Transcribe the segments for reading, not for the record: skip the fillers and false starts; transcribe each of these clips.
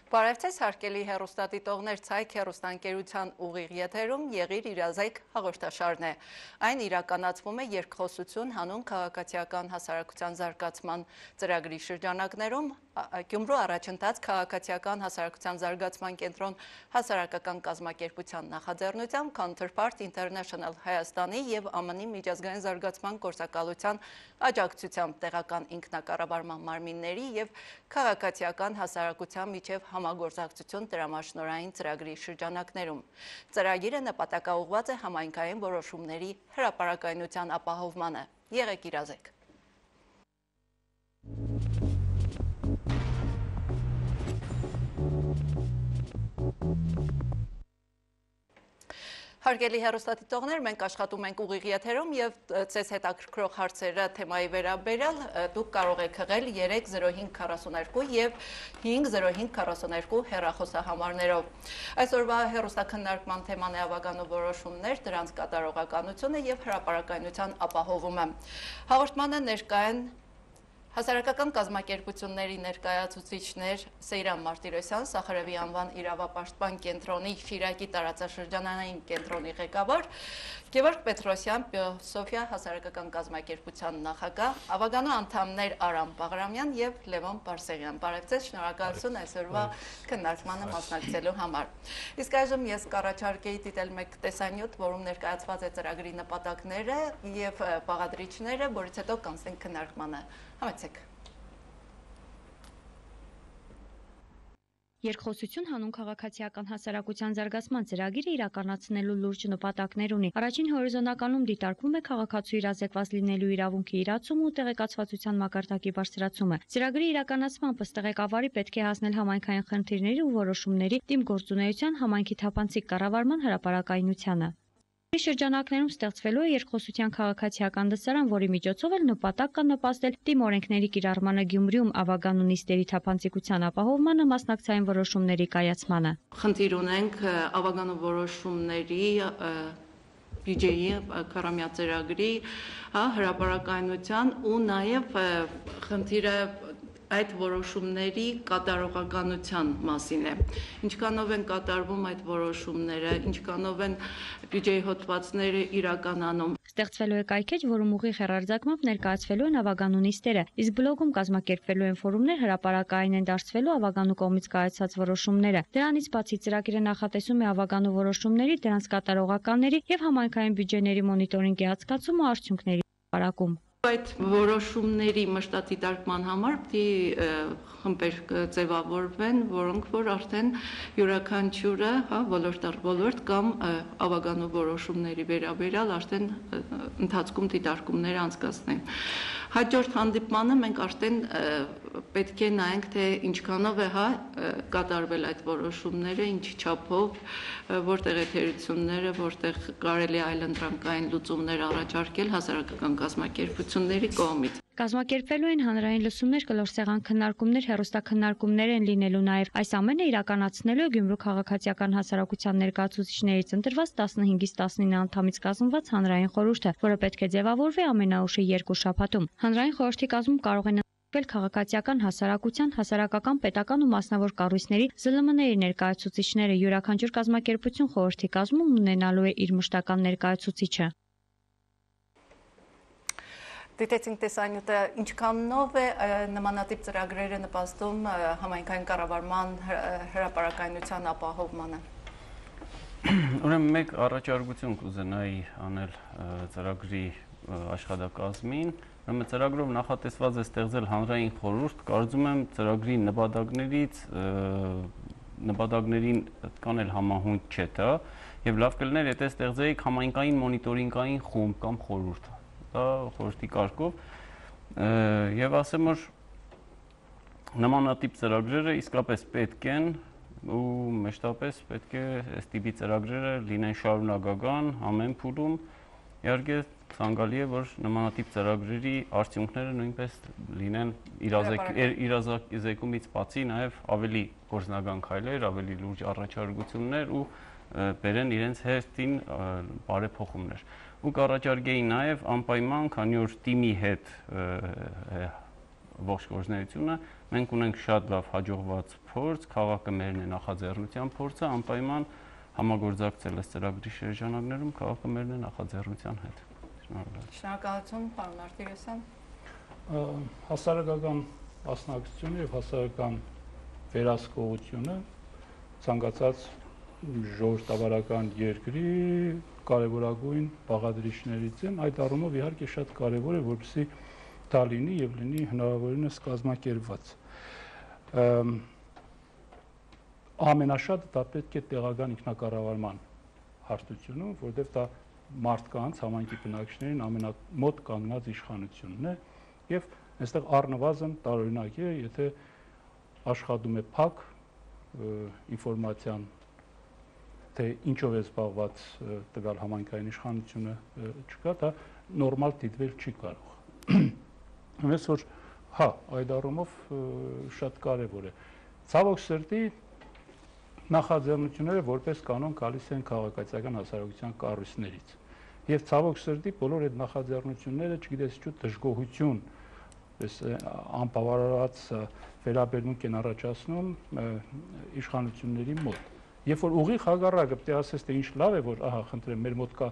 Բարև ձեզ հարգելի հեռուստադիտողներ, Ցայք հեռուստաընկերության ուղիղ եթերում Եղիր իրազեկ հաղորդաշարն է։ Այն իրականացվում է երկխոսություն հանուն քաղաքացիական հասարակության զարգացման ծրագրի շրջանակներում Գյումրու առաջընթաց քաղաքացիական հասարակության զարգացման կենտրոն հասարակական կազմակերպության նախաձեռնությամբ Counterpart International Հայաստանի եւ ԱՄՆ-ի միջազգային զարգացման գործակալության աջակցությամբ տեղական ինքնակառավարման մարմինների եւ քաղաքացիական հասարակության միջև համագործակցություն տրամաշնորհային ծրագրի շրջանակներում։ Ծրագիրը նպատակաուղղված է համայնքային որոշումների հրապարակայնության ապահովմանը։ Եղեք իրազեկ։ Հարգելի հեռուստադիտողներ, մենք աշխատում ենք ուղիղ եթերում եւ ցես հետաքրքրող հարցերը թեմայի վերաբերյալ դուք կարող եք հղել 30542 եւ 50542 հեռախոսահամարներով։ Այսօրվա հեռուստաքննարկման թեման է ավագանու որոշումներ, դրանց կատարողականությունը եւ հրապարակայնության ապահովումը։ Հաղորդմանը ներկա են Հասարակական կազմակերպությունների ներկայացուցիչներ Սեյրան Մարտիրոսյան, Սախարևի անվան իրավապաշտպան կենտրոնի Շիրակի տարածաշրջանային կենտրոնի ղեկավար, Գևորգ Պետրոսյան, Սոֆիա հասարակական կազմակերպության նախագահ, ավագանու անդամներ Արամ Բաղրամյան եւ Լևոն Բարսեղյան։ Բարև ձեզ, շնորհակալություն այսօրվա քննարկմանը մասնակցելու համար։ Իսկ այժմ ես կառաջարկեի դիտել մեկ տեսանյութ, որում ներկայացված է ծրագրի նպատակները եւ բաղադրիչները, որից հետո կանցնենք քննարկմանը։ Համեցեք։ Երկխոսություն հանուն քաղաքացիական հասարակության զարգացման ծրագիրը իրականացնելու լուրջ նպատակներ ունի։ Առաջին հորիզոնականում դիտարկվում է քաղաքացու իրազեկված լինելու իրավունքի իրացումը ու տեղեկացվածության մակարդակի բարձրացումը։ Ծրագրի իրականացմամբ ըստ ղեկավարի պետք է հասնել համայնքային խնդիրների ու որոշումների դիմգործունեության համայնքի թափանցիկ կառավարման հրապարակայնությանը։ Շրջանակներում ստեղծվելու է երկխոսության քաղաքացիական դասարան, որի միջոցով էլ նպատակ կա նպաստել դիմօրենքների կիրառմանը Գյումրիում ավագանու նիստերի թափանցիկության ապահովմանը, մասնակցային որոշումների կայացմանը։ Խնդիր ունենք ավագանու որոշումների բյուջեի քառամյա ծրագրի հրապարակայնության ու նաև խնդիրը այդ որոշումների կատարողականության մասին է։ Ինչքանով են կատարվում այդ որոշումները, ինչքանով են բյուջեի հոդվածները իրականանում։ Ստեղծվելու է կայքեջ, որում ուղիղ հեռարձակմամբ ներկայացվելու են ավագանու նիստերը, իսկ բլոգում կազմակերպվելու են ֆորումներ, հրապարակային են դարձվելու ավագանու կողմից կայացած որոշումները։ Դրանից բացի ծրագիրը նախատեսում է ավագանու որոշումների, դրանց կատարողականների եւ համայնքային բյուջեների մոնիտորինգի հատկացում ու արդյունքների հրապարակում։ Այդ որոշումների մշտադիտարկման համար պիտի խմբեր ձևավորվեն, որոնք որ արդեն յուրաքանչյուրը, ոլորտ առ ոլորտ կամ ավագանու որոշումների վերաբերյալ արդեն ընթացքում դիտարկումներ անցկացնեն։ Հաջորդ հանդիպմանը մենք արդեն պետք է նայենք, թե ինչքանով է կատարվել այդ որոշումները, ինչ չափով, որտեղ է թերությունները, որտեղ կարելի այլ ընտրանքային լուծումներ առաջարկել հասարակական կազմակերպությունների կողմից։ Կազմակերպվելու են հանրային լսումներ, կլորսեղան քննարկումներ, հեռուստաքննարկումներ են լինելու նաև։ Այս ամենը իրականացնելու է Գյումրու քաղաքացիական հասարակության ներկայացուցիչներից ընտրված 15-ից 19 անդամից կազմված հանրային խորհուրդը, որը պետք է ձևավորվի ամենաուշ 2 շաբաթում։ Հանրային խորհրդի կազմում կարող են քաղաքացիական հասարակության, հասարակական, պետական ու մասնավոր կառույցների ԶԼՄ-ների ներկայացուցիչները, յուրաքանչյուր կազմակերպություն խորհրդի կազմում ունենալու է իր մշտական ներկայացուցիչը։ Դիտեցինք տեսանյութը, ինչքանով է նմանատիպ ծրագրերը նպաստում համայնքային կառավարման հրապարակայնության ապահովմանը։ Ուրեմն մեկ առաջարկություն կուզենայի անել ծրագրի աշխատակազմին։ Ուրեմն ծրագրով նախատեսված է ստեղծել հանրային խորհուրդ, կարծում եմ ծրագրի նպատակներին կանել համահունչ չէ դա, եւ լավ կլիներ, եթե ստեղծեիք համայնքային մոնիտորինգային խումբ կամ խորհուրդ, դա խորհրդի կարգով, եւ ասեմ, որ նմանատիպ ծրագրերը իսկապես պետք են ու մեջտապես պետք է այս տիպի ծրագրերը լինեն շարունակական ամեն փուլում, իհարկե ցանկալի է, որ նմանատիպ ծրագրերի արդյունքները նույնպես լինեն իրազեկումից բացի նաև ավելի գործնական քայլեր, ավելի լուրջ առաջարկություններ ու բերեն իրենց հերթին բարեփոխումներ։ Ու կառաջարկեի նաև անպայման, քանի որ թիմի հետ ողջ գործունեությունը մենք ունենք շատ լավ հաջողված փորձ, քաղաքը մերն է նախաձեռնության փորձը, անպայման համագործակցել այս ծրագրի շրջանակներում քաղաքը մերն է նախաձեռնության հետ։ Շնորհակալություն, պարոն Մարտիրոսյան։ Հասարակական մասնակցությունը եւ հասարակական վերահսկողությունը ցանկացած ժողովրդավարական երկրի կարևորագույն բաղադրիչներից են, այդ առումով իհարկե շատ կարևոր է, որպեսզի դա լինի եւ լինի հնարավորինս կազմակերպված։ Ամենաշատը դա պետք է տեղական ինքնակառավարման հարթությունում, որտեղ դա մարդկանց, համայնքի բնակիչներին ամենամոտ կանգնած իշխանությունն է եւ այստեղ առնվազն տարօրինակ է, եթե աշխատում է փակ ինֆորմացիան, թե ինչով է զբաղված տվյալ համայնքային իշխանությունը չկա, դա նորմալ դիտվել չի կարող։ Ամենից որ հա, այդ առումով շատ կարևոր է։ Ցավոք սրտի նախաձեռնությունները որպես կանոն գալիս են քաղաքացիական հասարակության կառույցներից։ Եվ ցավոք սրտի բոլոր այդ նախաձեռնությունները, չգիտես ինչու դժգոհություն, անբավարարված վերաբերմունք են առաջացնում իշխանությունների մոտ։ Երբ որ ուղիղ հակառակը պետք է ասես, թե ինչ լավ է, որ ահա, խնդրեմ, մեր մոտ կա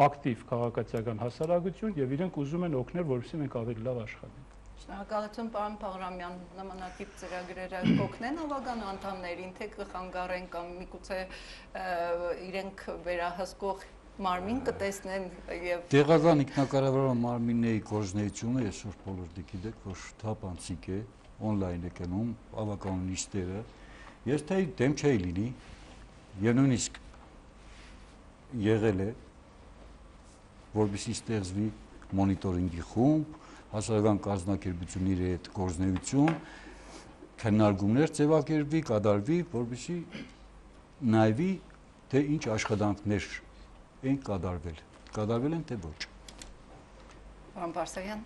ակտիվ քաղաքացիական հասարակություն եւ իրենք ուզում են օգնել, որպեսզի մենք ավելի լավ աշխատենք։ Շնորհակալություն, պարոն Բաղրամյան, նմանատիպ ծրագրերը կօգնեն ավագանու անդամներին, թե կխանգարեն կամ միգուցե իրենք վերահսկող մարմին կտեսնեն եւ տեղական ինքնակառավարման մարմինների գործունեությունը այսօր բոլորը գիտեք, որ թափանցիկ է, on-line է գնում ավագանու նիստերը։ Ես թե դեմ չէի լինի, եւ նույնիսկ եղել է, որպեսզի ստեղծվի մոնիտորինգի խումբ, հասարակական կազմակերպությունների հետ գործունեություն, քննարկումներ ձևակերպվի, կատարվի, որպեսզի նայվի, թե ինչ աշխատանքներ են կատարվել են, թե ոչ։ Պարոն Բարսեղյան։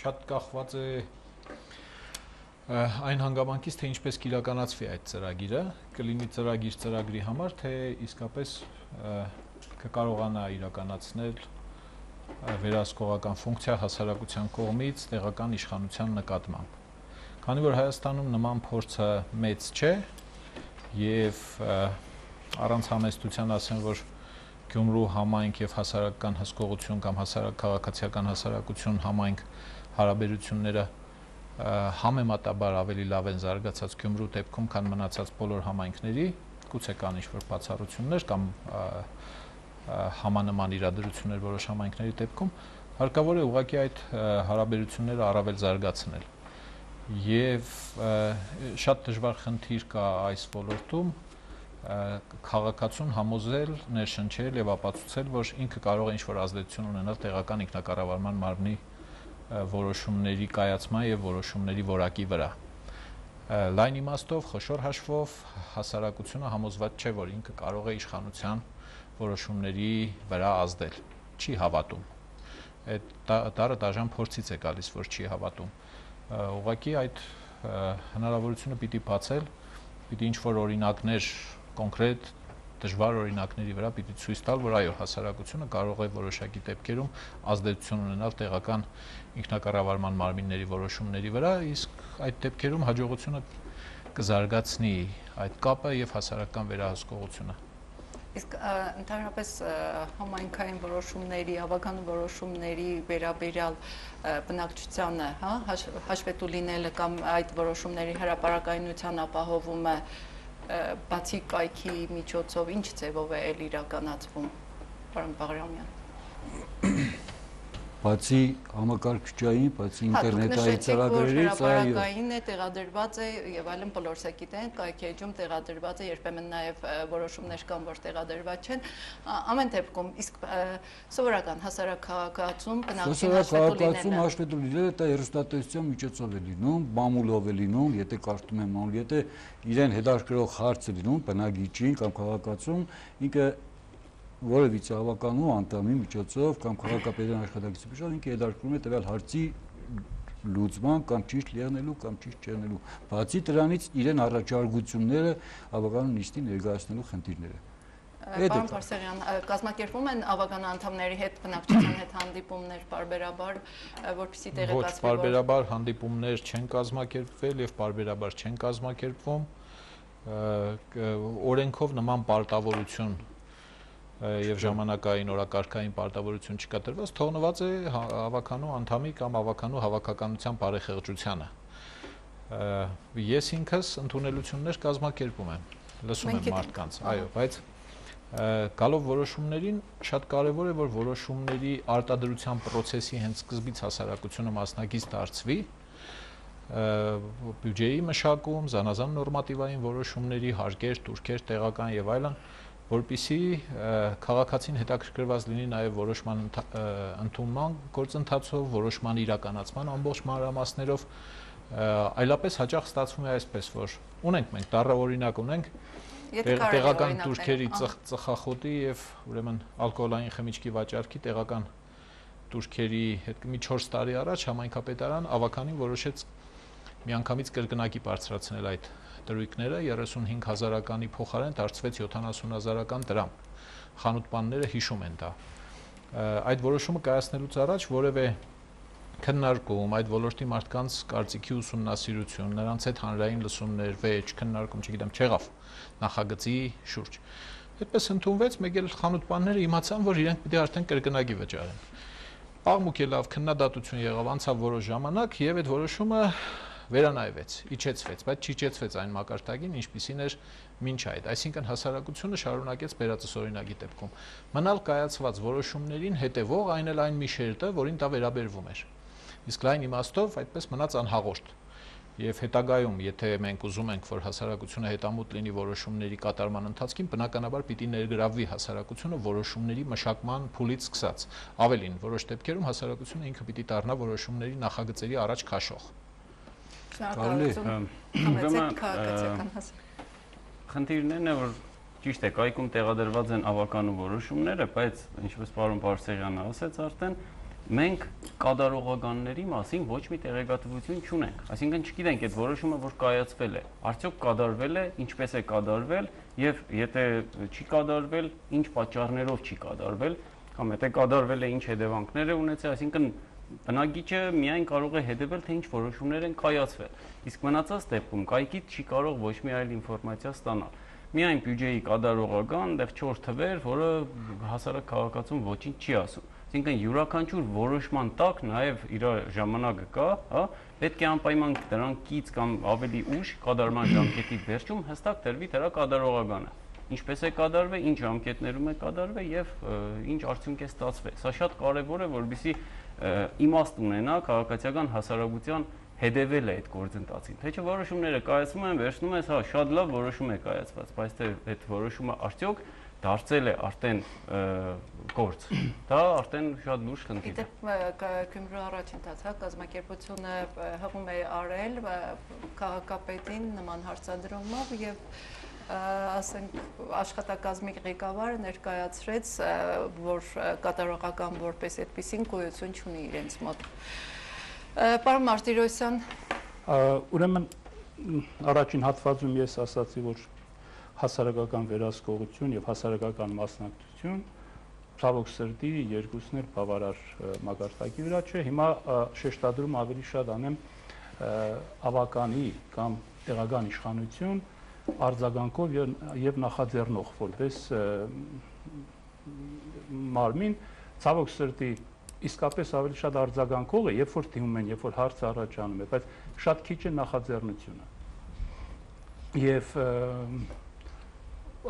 Շատ կախված է այն հանգամանքից, թե ինչպես կիրականացվի այդ ծրագիրը, կլինի ծրագիր ծրագրի համար, թե իսկապես կկարողանա իրականացնել վերահսկողական ֆունկցիա հասարակության կողմից տեղական իշխանության նկատմամբ։ Քանի որ Հայաստանում նման փորձը մեծ չէ եւ առանց համեստության ասեմ, որ Գյումրու համայնք եւ հասարակական հսկողություն կամ քաղաքացիական հասարակություն համայնք հարաբերությունները համեմատաբար ավելի լավ են զարգացած Գյումրու դեպքում, քան մնացած բոլոր համայնքների, գուցե կան ինչ-որ բացառություններ կամ համանման իրադրություններ որոշ համայնքների դեպքում, հարկավոր է ուղղակի այդ հարաբերությունները առավել զարգացնել։ Եվ շատ դժվար խնդիր կա այս ոլորտում քաղաքացուն համոզել, ներշնչել եւ ապացուցել, որ ինքը կարող է ինչ-որ ազդեցություն ունենալ տեղական ինքնակառավարման մարմնի որոշումների կայացման եւ որոշումների որակի վրա։ Լայն իմաստով, խոշոր հաշվով հասարակությունը համոզված չէ, որ ինքը կարող է իշխանության որոշումների վրա ազդել։ Չի հավատում։ Այդ դարը դաժան փորձից է գալիս, որ չի հավատում։ Ուղղակի այդ հնարավորությունը պիտի բացել, պիտի ինչ-որ օրինակներ կոնկրետ դժվար օրինակների վրա պիտի ցույց տալ, որ այո, հասարակությունը կարող է որոշակի դեպքերում ազդեցություն ունենալ տեղական ինքնակառավարման մարմինների որոշումների վրա, իսկ այդ դեպքերում հաջողությունը կզարգացնի այդ կապը եւ հասարակական վերահսկողությունը։ Իսկ ընդհանրապես համայնքային որոշումների, ավագանու որոշումների վերաբերյալ բնակչությանը, հա, հաշվետու լինելը կամ այդ որոշումների հրապարակայնության ապահովումը բացի կայքի միջոցով ինչ ձևով է իրականացվում, պարոն Բաղրամյան։ Բացի համակարգչային, բացի ինտերնետային ծրագրերից, հրապարակային է, տեղադրված է եւ այլն բոլորս է գիտեն, կայքի էջում տեղադրված է, երբեմն նաեւ որոշումներ կան, որ տեղադրված չեն։ Ամեն դեպքում, իսկ սովորական հասարակ քաղաքացում հաշվետու լինելը դա հեռուստատեսության միջոցով է լինում, մամուլով է լինում, եթե կարդում եմ մամուլ, եթե իրեն հետաքրքրող հարց է լինում բնակիչին կամ քաղաքացուն, ինքը որևիցե ավականու անդամի միջոցով կամ քաղաքապետարան աշխատակցի միջոցով ինքը հետաքրքրում է տվյալ հարցի լուծման կամ ճիշտ եղնելու կամ ճիշտ չեղնելու։ Բացի դրանից իրեն առաջարկությունները ավականուն նիստի ներկայացնելու խնդիրները։ Պարոն Փարսեղյան, կազմակերպում են ավական անդամների հետ բնակչության հետ հանդիպումներ բարբերաբար, որպեսզի տեղեկացվի։ Ոչ, բարբերաբար հանդիպումներ չեն կազմակերպվել եւ բարբերաբար չեն կազմակերպվում։ Օրենքով նման պարտավորություն եւ ժամանակային օրակարգային պարտավորություն չկա տրված, թողնված է ավականու անդամի կամ ավականու հավաքականության բարեխեղճությանը։ Ես ինքս ընդունելություններ կազմակերպում եմ, լսում եմ մարդկանց, այո, բայց գալով որոշումներին շատ կարևոր է, որ որոշումների արտադրության process-ի հենց սկզբից հասարակությունը մասնակից դարձվի, բյուջեի մշակում, զանազան նորմատիվային որոշումների, հարկեր, տուրքեր, տեղական եւ այլն, որպեսզի քաղաքացին հետաքրքրված լինի նաեւ որոշման ընդունման գործընթացով, որոշման իրականացման ամբողջ մանրամասներով, այլապես հաճախ ստացվում է այսպես, որ ունենք մենք դառը օրինակ ունենք տեղական տուրքերի ծխախոտի եւ ուրեմն ալկոհոլային խմիչքի վաճառքի տեղական տուրքերի հետ մի 4 տարի առաջ համայնքապետարան ավականին որոշեց միանգամից կրկնակի բարձրացնել այդ դրույքները 35,000-ականի փոխարեն դարձվեց 70,000-ական դրամ։ Խանութպանները հիշում են դա։ Այդ որոշումը կայացնելուց առաջ որևէ քննարկում, այդ ոլորտի մարդկանց կարծիքի ուսումնասիրություն, նրանց հետ հանրային լսումներ, վեճ, քննարկում, չգիտեմ, չեղավ նախագծի շուրջ։ Այդպես ընդունվեց, մեկ էլ խանութպանները իմացան, որ իրենք պիտի արդեն կրկնակի վճարեն։ Աղմուկ է լավ քննադատություն եղավ, անցավ որոշ ժամանակ եւ այդ որոշումը վերանայվեց, իջեցվեց, բայց չիջեցվեց այն մակարդակին, ինչպիսին էր մինչ այդ։ Այսինքն հասարակությունը շարունակեց բերածս օրինակի դեպքում մնալ կայացված որոշումներին հետևող այն էլ այն մի շերտը, որին դա վերաբերվում էր։ Իսկ լայն իմաստով այդպես մնաց անհաղորդ։ Եվ հետագայում, եթե մենք ուզում ենք, որ հասարակությունը հետամուտ լինի որոշումների կատարման ընթացքին, բնականաբար պիտի ներգրավվի հասարակությունը որոշումների մշակման փուլից սկսած։ Ավելին, որոշ դեպքերում հասարակությունը ինքը պիտի դառնա որոշումների նախագծերի առաջ քաշող։ Խնդիրներն է, որ ճիշտ է, կայքում տեղադրված են ավականու որոշումները, բայց ինչպես պարոն Բարսեղյանը ասաց արդեն, մենք կատարողականների մասին ոչ մի տեղեկատվություն չունենք։ Այսինքն չգիտենք այդ որոշումը, որ կայացվել է, արդյոք կատարվել է, ինչպես է կատարվել եւ եթե չի կատարվել, ինչ պատճառներով չի կատարվել, կամ եթե կատարվել է, ինչ հետևանքներ է ունեցել, այսինքն բնակիչը միայն կարող է հետևել, թե ինչ որոշումներ են կայացվել։ Իսկ մնացած դեպքում կայքից չի կարող ոչ մի այլ ինֆորմացիա ստանալ։ Միայն բյուջեի կատարողական, այդտեղ 4 թվեր, որը հասարակ քաղաքացուն ոչինչ չի ասում։ Այսինքն յուրաքանչյուր որոշման տակ նաև իր ժամանակը կա, հա, պետք է անպայման դրան կից կամ ավելի ուշ կատարման ժամկետի վերջում հստակ դրվի դրա կատարողականը։ Ինչպես է կատարվել, ինչ ժամկետներում է կատարվել եւ ինչ արդյունք է ստացվել։ Սա շատ կարեւոր է, որովհետեւ իմաստ ունենա քաղաքացիական հասարակության հետևել է այդ գործընթացին։ Թե չէ որոշումները կայացվում են, վերջնում ես, հա, շատ լավ որոշում է կայացված, բայց թե այդ որոշումը արդյոք դարձել է արդեն գործ։ Դա արդեն շատ լուրջ խնդիր է։ Գյումրու առաջընթաց, հա, կազմակերպությունը հղում է արել քաղաքապետին նման հարցադրումով եւ ասենք աշխատակազմի ղեկավարը ներկայացրեց, որ կատարողական որպես այդպեսին գոյություն չունի իրենց մոտ։ Պարոն Մարտիրոսյան, ուրեմն առաջին հատվածում ես ասացի, որ հասարակական վերահսկողություն եւ հասարակական մասնակցություն ցավոք սրտի երկուսն էլ բավարար մակարդակի վրա չէ։ Հիմա շեշտադրում ավելի շատ անեմ ավականի կամ տեղական իշխանություն արձագանքով եւ նախաձեռնող որպես մարմին ցավոք սրտի իսկապես ավելի շատ արձագանքող է, երբ որ դիմում են, երբ որ հարցը առաջանում է, բայց շատ քիչ է նախաձեռնությունը։ Եվ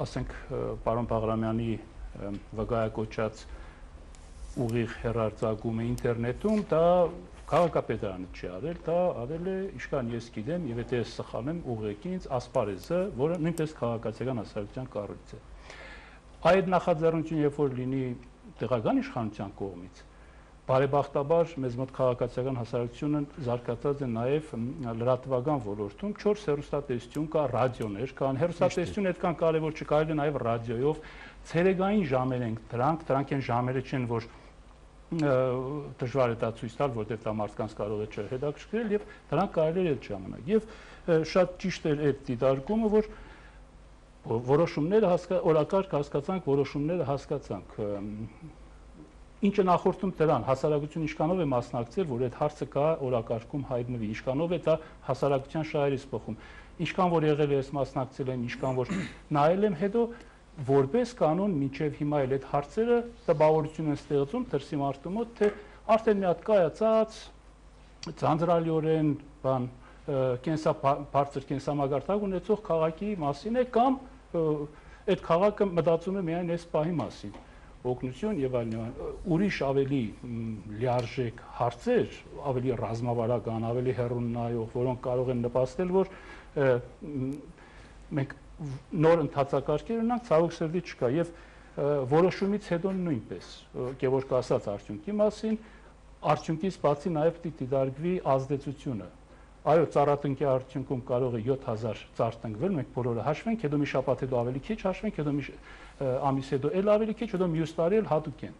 ասենք պարոն Բաղրամյանի վկայակոչած ուղիղ հեռարձակումը ինտերնետում, դա քաղաքապետարանը չի արել, դա արել է իշքան ես գիտեմ, եւ եթե ես սխալ եմ, ուղղակի ինձ ասպարեզը, որը նույնպես քաղաքացիական հասարակության կառույց է։ Այդ նախաձեռնությունը երբ որ լինի տեղական իշխանության կողմից, բարեբախտաբար մեզ մոտ քաղաքացիական հասարակությունը զարգացած է նաև լրատվական ոլորտում 4 հեռուստատեսություն կա, ռադիոներ կան, հեռուստատեսությունը այդքան կարևոր չկարելի նաև ռադիոյով, ցերեկային ժամեր են դրանք են ժամերը չեն, որ դժվար է դա ցույց տալ, որտեղ դա մարդկանց կարող է չհետաքրքրել եւ դրանք կարելի է ժամանակ։ Եվ շատ ճիշտ էր այդ դիտարկումը, որ որոշումները օրակարգ հասկացանք, որոշումները հասկացանք։ Ինչը նախորդում դրան հասարակությունը ինչքանով է մասնակցել, որ այդ հարցը կա օրակարգում հայտնվի, ինչքանով է դա հասարակության շահերից փոխում, ինչքան որ եղել է ես մասնակցել եմ, ինչքան որ նայել եմ, հետո որպես կանոն մինչև հիմա էլ այդ հարցերը տպավորություն են ստեղծում դրսի մարդու մոտ, թե արդեն մի հատ կայացած ձանձրալիորեն բան բարձր կենսամագարտակ ունեցող քաղաքի մասին է կամ այդ քաղաքը մտածում է միայն այս պահի մասին, օգնություն եւ այլն, ուրիշ ավելի լիարժեք հարցեր, ավելի ռազմավարական, ավելի հեռուն նայող, որոնք կարող են նպաստել, որ մենք նոր ընթացակարգեր ունենք, ցավոք սրտի չկա եւ որոշումից հետո նույնպես Գևորգ ասաց արդյունքի մասին, արդյունքից բացի նաեւ պիտի դիտարկվի ազդեցությունը։ Այո, ծառատնկի արդյունքում կարող է 7000 ծառ տնկվել, մենք բոլորը հաշվենք, հետո մի շաբաթ հետո ավելի քիչ հաշվենք, հետո մի ամիս հետո էլ ավելի քիչ, հետո մյուս տարի էլ հատուկ են։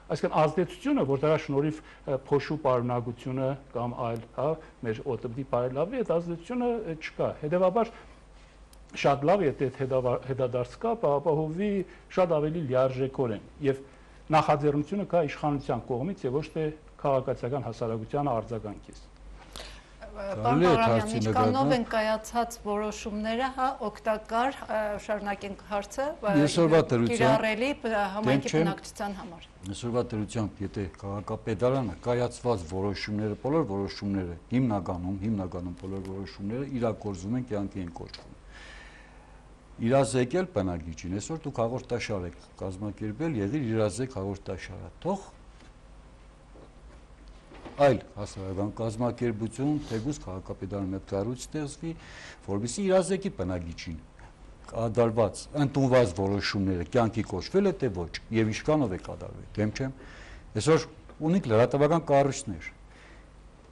Այսինքն ազդեցությունը, որ դրա շնորհիվ փոշու պարունակությունը կամ այլ, հա, մեր օտոբդի բարելավի, այդ ազդեցությունը չկա։ Հետևաբար շատ լավ է այդ հետադարձ կա, ապահովի շատ ավելի լիարժեքորեն եւ նախաձեռնությունը կա իշխանության կողմից եւ ոչ թե քաղաքացիական հասարակության արձագանքից։ Պարոն Բաղրամյան, ինչքանով են կայացած որոշումները, հա, օգտակար, շարունակենք հարցը, կիրառելի համայնքի բնակչության համար։ Այսօրվա դրությամբ, եթե քաղաքապետարանը կայացված որոշումները, բոլոր որոշումները, հիմնականում բոլոր որոշումները իրագործում են, կյանքի են կոչվում։ Իրազեկել բնակիչին, այսօր դուք հաղորդաշար եք կազմակերպել, եղիր իրազեկ հաղորդաշարը, թող այլ հասարակական կազմակերպություն, թեկուզ քաղաքապետարանի հետ կառույց ստեղծվի, որովհետեւ իրազեկի բնակիչին կատարված, ընդունված որոշումները կյանքի կոչվել է թե ոչ, եւ ինչքանով է կատարվել, դեմ չեմ։ Այսօր ունենք լրատվական կառույցներ,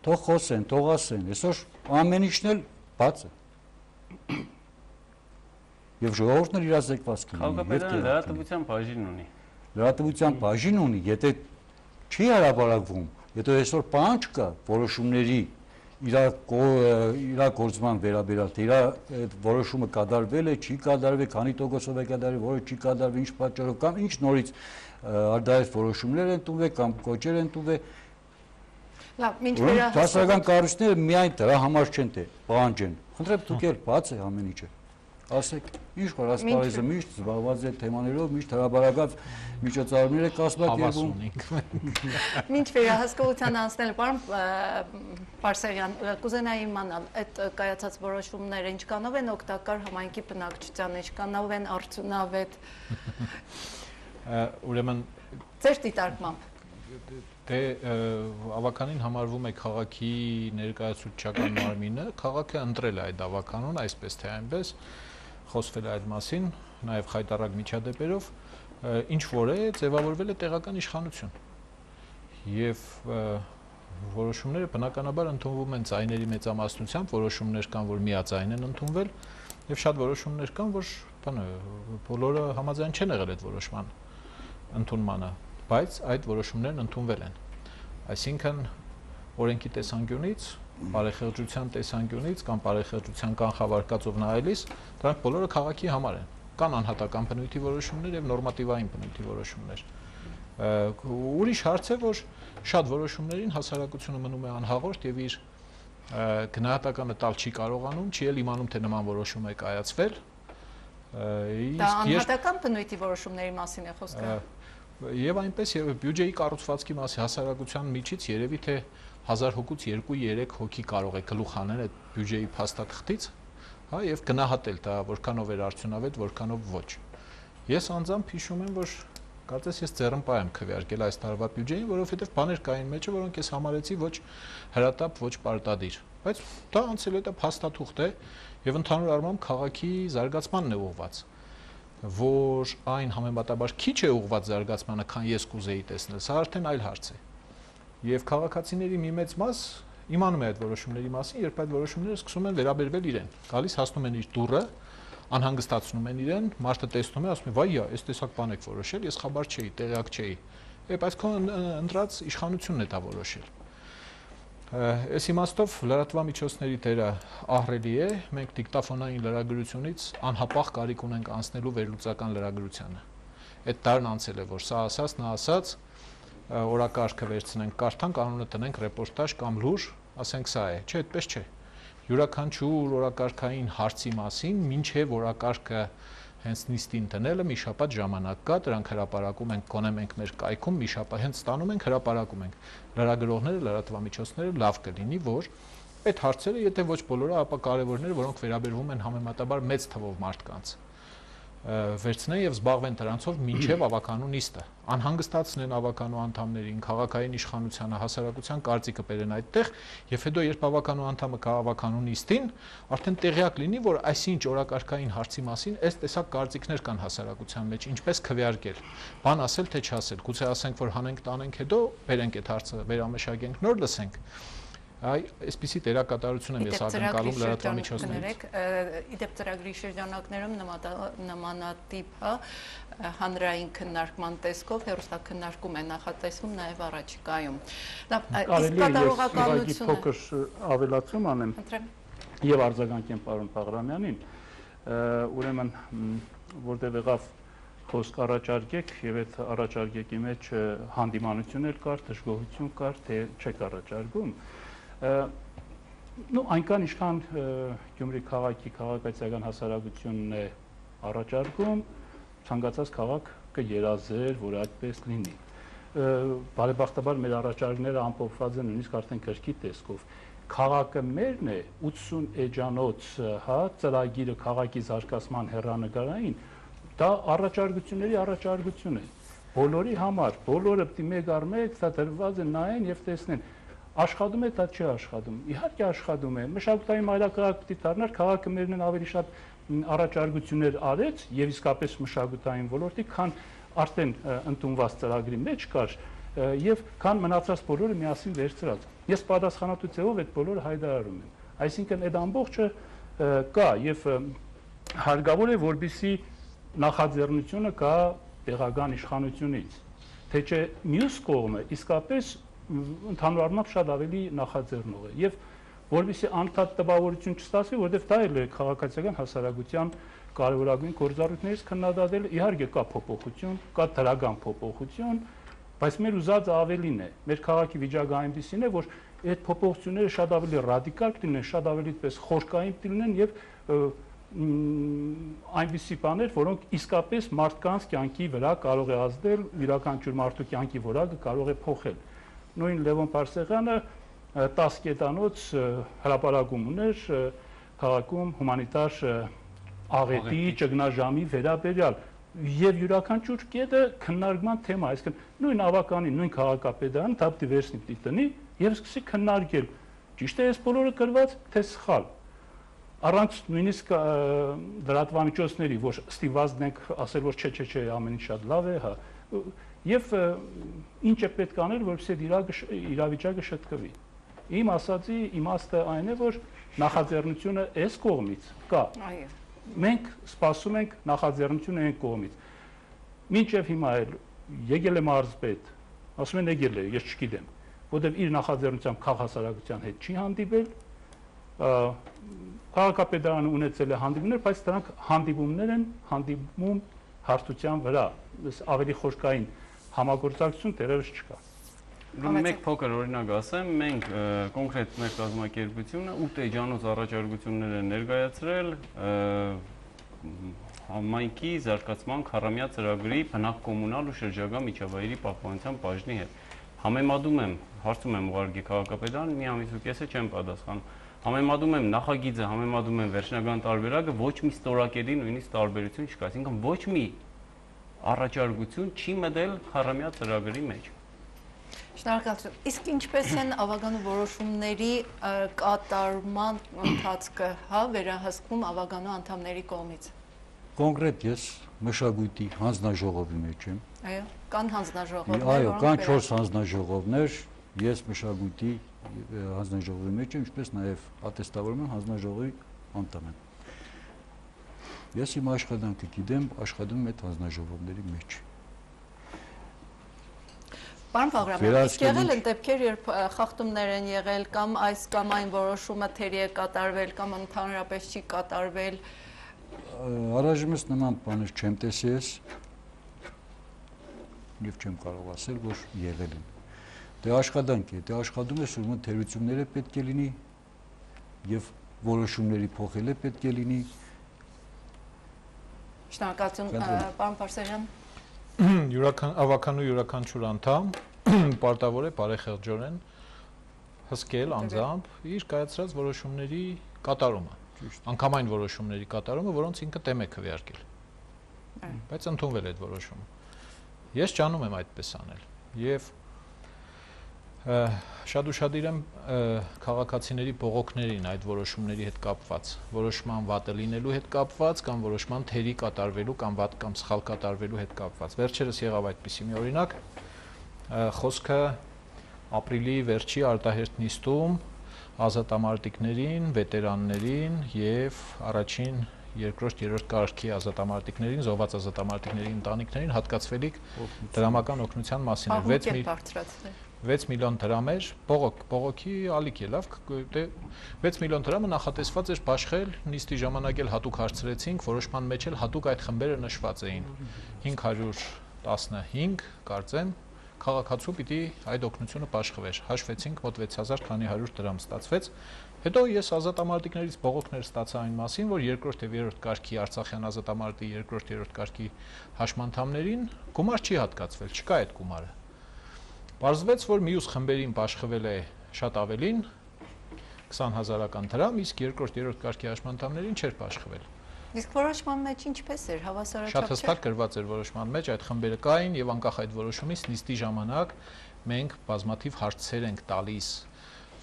թող խոսեն, թող ասեն, այսօր ամեն ինչն էլ բաց է։ Եվ ժողովուրդն էլ իրազեկված կլինի։ Քաղաքապետարանը լրատվության բաժին ունի։ Լրատվության բաժին ունի, եթե չի հրապարակվում, եթե այսօր պահանջ կա որոշումների իրագործման վերաբերյալ, թե այդ որոշումը կատարվել է, չի կատարվել, քանի տոկոսով է կատարվել, որը չի կատարվել, ինչ պատճառով կամ ինչ նորից արդարից որոշումներ են տուվել կամ կոչեր են տուվել։ Լավ, ինչ վերահասկացած։ Հասարակական կառույցները միայն դրա համար չեն թե պահանջեն։ Խնդրեմ դուք էլ բաց է ամեն ինչը։ Ասեք, ինչ որ ասպարեզը միշտ զբաղված է թեմաներով, միշտ հրապարակած միջոցառումներ է կազմակերպում։ Ինչ վերահսկողության անցնել, պարոն Պարսեղյան, կուզենայի իմանալ, այդ կայացած որոշումները ինչքանով են օգտակար համայնքի բնակչության, ինչքանով են արդյունավետ։ Ուրեմն ձեր դիտարկմամբ դե ավականին համարվում է քաղաքի ներկայացուցչական մարմինը, քաղաքը ընտրել է այդ ավականուն, այսպես թե այնպես, խոսվել է այդ մասին, նաև խայտառակ միջադեպերով, ինչ որ է, ձևավորվել է տեղական իշխանություն։ Եվ որոշումները բնականաբար ընդունվում են ձայների մեծամասնությամբ, որոշումներ կան, որ միաձայն են ընդունվել, եւ շատ որոշումներ կան, որ բոլորը համաձայն չեն եղել այդ որոշման ընդունմանը, բայց այդ որոշումներն ընդունվել են։ Այսինքն օրենքի տեսանկյունից, բարեխեղճության տեսանկյունից կամ բարեխեղճության կանխավարկածով նայելիս, դրանք բոլորը քաղաքի համար են։ Կան անհատական բնույթի որոշումներ եւ նորմատիվային բնույթի որոշումներ։ Ուրիշ հարց է, որ շատ որոշումներին հասարակությունը մնում է անհաղորդ եւ իր գնահատականը տալ չի կարողանում, չի էլ իմանում, թե նման որոշում է կայացվել։ Դա անհատական բնույթի որոշումների մասին է խոսքը։ Եվ այնպես եւ բյուջեի կառուցվածքի մասի հասարակության միջից երևի թե 1000 հոգուց 2-3 հոգի կարող է գլուխ անել այդ բյուջեի փաստաթղթից, հա, եւ գնահատել դա որքանով էր արդյունավետ, որքանով ոչ։ Ես անձամբ հիշում եմ, որ կարծես ես ձեռնպահ եմ քվեարկել այս տարվա բյուջեին, որովհետեւ բաներ կային մեջը, որոնք ես համարեցի ոչ հրատապ, ոչ պարտադիր։ Բայց դա անցել է, դա փաստաթուղթ է եւ ընդհանուր առմամբ քաղաքի զարգացմանն է ուղղված, որ այն համեմատաբար քիչ է ուղղված զարգացմանը, քան ես կուզեի տեսնել, սա արդեն այլ հարց է։ Եվ քաղաքացիների մի մեծ մաս իմանում է այդ որոշումների մասին, երբ այդ որոշումները սկսում են վերաբերվել իրեն, գալիս հասնում են իր դուռը, անհանգստացնում են իրեն, մարդը տեսնում է, ասում է՝ «Վայ, այս տեսակ բան եք որոշել, ես խաբար չէի, տեղյակ չէի»։ Բայց քո ընտրած իշխանությունն է դա որոշել։ Այս իմաստով լրատվամիջոցների դերը ահռելի է, մենք դիկտաֆոնային լրագրությունից անհապաղ կարիք ունենք անցնելու վերլուծական լրագրությանը։ Այդ դարն անցել է, որ սա ասած, նա ասած, օրակարգը վերցնենք, կարդանք, անունը տնենք ռեպորտաժ կամ լուր, ասենք սա է, չէ, այդպես չէ։ Յուրաքանչյուր օրակարգային հարցի մասին, մինչև օրակարգը հենց նիստին տնելը մի շաբաթ ժամանակ կա, դրանք հրապարակում ենք, գոնե մենք մեր կայքում մի շաբաթ հենց ստանում ենք, հրապարակում ենք։ Լրագրողները, լրատվամիջոցները լավ կլինի, որ այդ հարցերը, եթե ոչ բոլորը, ապա կարևորները, որոնք վերաբերվում են համեմատաբար մեծ թվով մարդկանց, վերցնեն եւ զբաղվեն դրանցով մինչեւ ավականու նիստը, անհանգստացնեն ավականու անդամներին, քաղաքային իշխանությանը, հասարակության կարծիքը բերեն այդտեղ, եւ հետո երբ ավականու անդամը գա ավականու նիստին, արդեն տեղյակ լինի, որ այսինչ օրակարգային հարցի մասին այս տեսակ կարծիքներ կան հասարակության մեջ, ինչպես քվեարկել, բան ասել թե չասել, գուցե ասենք, որ հանենք տանենք, հետո բերենք այդ հարցը, վերամշակենք, նոր լսենք։ Այսպիսի դերակատարություն եմ ես ակնկալում լրատվամիջոցներից։ Իդեպ ծրագրի շրջանակներում նմանատիպ հանրային քննարկման տեսքով հեռուստաքննարկում է նախատեսվում նաև առաջիկայում։ Իսկ կատարողականությունը փոքր ավելացում անեմ եւ արձագանքեմ պարոն Բաղրամյանին, ուրեմն որտեղ եղավ խոսք առաջարկեք եւ այդ առաջարկեկի մեջ հանդիմանություն էլ կար, դժգոհություն կար, թե չեք առաջարկում։ Այնքան ինչքան Գյումրի քաղաքի քաղաքացիական հասարակությունն է առաջարկում, ցանկացած քաղաք կերազեր, որ այդպես լինի։ Բարեբախտաբար մեր առաջարկները ամփոփված են նույնիսկ արդեն գրքի տեսքով։ Քաղաքը մերն է 80 էջանոց, ծրագիրը քաղաքի զարգացման հեռանկարային, դա առաջարկությունների առաջարկություն է։ Բոլորի համար, բոլորը պիտի մեկ առ մեկ դա դրված է նայեն եւ տեսնեն։ Աշխատում է, դա չի աշխատում։ Իհարկե աշխատում է։ Մշակութային մայրաքաղաք պիտի դառնար, քաղաքը մերն ավելի շատ առաջարկություններ արեց եւ իսկապես մշակութային ոլորտի, քան արդեն ընդունված ծրագրի մեջ կար եւ քան մնացած բոլորը միասին վերցրած։ Ես պատասխանատվությամբ այդ բոլորը հայտարարում եմ։ Այսինքն այդ ամբողջը կա եւ հարկավոր է, որպեսզի նախաձեռնությունը կա տեղական իշխանությունից, թե չէ մյուս կողմը իսկապես ընդհանուր առմամբ շատ ավելի նախաձեռնող է եւ որովհետեւ անդադ տպավորություն չստացվի, որովհետեւ դա էլ է քաղաքացիական հասարակության կարևորագույն գործառույթներից քննադատել, իհարկե կա փոփոխություն, կա դրական փոփոխություն, բայց մեր ուզածը ավելին է։ Մեր քաղաքի վիճակը այնպեսին է, որ այդ փոփոխությունները շատ ավելի ռադիկալ կլինեն, շատ ավելի պես խորքային կլինեն եւ այնպիսի բաներ, որոնք իսկապես մարդկանց կյանքի վրա կարող է ազդել, յուրաքանչյուր մարդու կյանքի որակը կարող է փոխել։ Նույն Լևոն Պարսեղյանը 10 կետանոց հրապարակում ուներ քաղաքում հումանիտար աղետի ճգնաժամի վերաբերյալ եւ յուրաքանչյուր կետը քննարկման թեմա, այսինքն նույն ավականի, նույն քաղաքապետարան դա պիտի վերցնի պիտի տնի եւ սկսի քննարկել։ Ճիշտ է, այս բոլորը գրված թե սխալ։ Առանց նույնիսկ լրատվամիջոցների, որ ստիպված ենք ասել, որ չէ, ամեն ինչ շատ լավ է, հա։ Եվ ինչ է պետք անել, որպեսզի իրավիճակը շտկվի։ Իմ ասածի իմաստը այն է, որ նախաձեռնությունը այս կողմից կա։ Այո։ Մենք սպասում ենք նախաձեռնությունը այն կողմից։ Մինչև հիմա էլ եկել է մարզպետ, ասում են եկել է, ես չգիտեմ, որտեղ իր նախաձեռնությամբ քաղաքասարակության հետ չի հանդիպել, քաղաքապետարանը ունեցել է հանդիպումներ, բայց դրանք հանդիպումներ են, հանդիպում հարթության վրա, ավելի խորքային համագործակցություն դեռևս չկա։ Մեկ փոքր օրինակ ասեմ, մենք կոնկրետ մեր կազմակերպությունը 8 էջանոց առաջարկություններ են ներկայացրել համայնքի զարգացման քառամյա ծրագրի բնակ կոմունալ ու շրջակա միջավայրի պահպանության բաժնի հետ։ Համեմատում եմ, հարցում եմ ուղղակի քաղաքապետարան, մի ամիս ու կեսը չեմ պատասխանում։ Համեմատում եմ նախագիծը, համեմատում եմ վերջնական տարբերակը, ոչ մի ստորակետի նույնիսկ տարբերություն չկա, այսինքն ոչ մի առաջարկություն չի մտել քառամյա ծրագրի մեջ։ Շնորհակալություն։ Իսկ ինչպես են ավագանու որոշումների կատարման ընթացքը, վերահսկվում ավագանու անդամների կողմից։ Կոնկրետ ես մշակույթի հանձնաժողովի մեջ եմ։ Այո, կան հանձնաժողովներ։ Այո, կան 4 հանձնաժողովներ, ես մշակույթի հանձնաժողովի մեջ եմ, ինչպես նաև ատեստավորում եմ հանձնաժողովի անդամ եմ։ Ես իմ աշխատանքը գիտեմ, աշխատում եմ այդ հանձնաժողովների մեջ։ Պարոն Բաղրամյան, իսկ եղել են դեպքեր, երբ խախտումներ են եղել կամ այս կամ այն որոշումը թերի է կատարվել կամ ընդհանրապես չի կատարվել։ Առայժմս նման բաներ չեմ տեսել եւ չեմ կարող ասել, որ եղել են։ Դե աշխատանք է, դե աշխատում է, ուրեմն թերությունները պետք է լինի եւ որոշումների փոխելը պետք է լինի։ Շնորհակալություն, պարոն Պարսեղյան։ Ավականու յուրաքանչյուր անդամ պարտավոր է բարեխեղճորեն հսկել անձամբ իր կայացրած որոշումների կատարումը, անգամ այն որոշումների կատարումը, որոնց ինքը դեմ է քվեարկել։ Բայց ընդունվել է այդ որոշումը։ Ես ճանում եմ այդպես անել եւ շատ ուշադիր եմ քաղաքացիների բողոքներին այդ որոշումների հետ կապված, որոշման վատը լինելու հետ կապված կամ որոշման թերի կատարվելու կամ վատ կամ սխալ կատարվելու հետ կապված։ Վերջերս եղավ այդպիսի մի օրինակ, խոսքը ապրիլի վերջի արտահերթ նիստում ազատամարտիկներին, վետերաններին եւ առաջին, երկրորդ, երրորդ կարգի ազատամարտիկներին, զոհված ազատամարտիկների ընտանիքներին հատկացվելիք դրամական օգնության մասին էր 6 միլիոն դրամ էր, բողոքի ալիք է, լավ, 6 միլիոն դրամը նախատեսված էր բաշխել, նիստի ժամանակ էլ հատուկ հարցրեցինք, որոշման մեջ էլ հատուկ այդ խմբերը նշված էին, 515, կարծեմ, քաղաքացու պիտի այդ օգնությունը բաշխվեր, հաշվեցինք, մոտ 6000 քանի 100 դրամ ստացվեց, հետո ես ազատամարտիկներից բողոքներ ստացա այն մասին, որ երկրորդ եւ երրորդ կարգի Արցախյան ազատամարտի երկրորդ, երրորդ կարգի հաշմանդամներին գումար չի հատկացվել, չկա այդ գումարը։ Պարզվեց, որ մյուս խմբերին բաշխվել է շատ ավելին 20000 դրամ, իսկ երկրորդ, երրորդ կարգի հաշմանդամներին չէր բաշխվել։ Իսկ որոշման մեջ ինչպես էր, հավասարաչափ չէր։ Շատ հստակ գրված էր որոշման մեջ, այդ խմբերը կային եւ անկախ այդ որոշումից նիստի ժամանակ մենք բազմաթիվ հարցեր ենք տալիս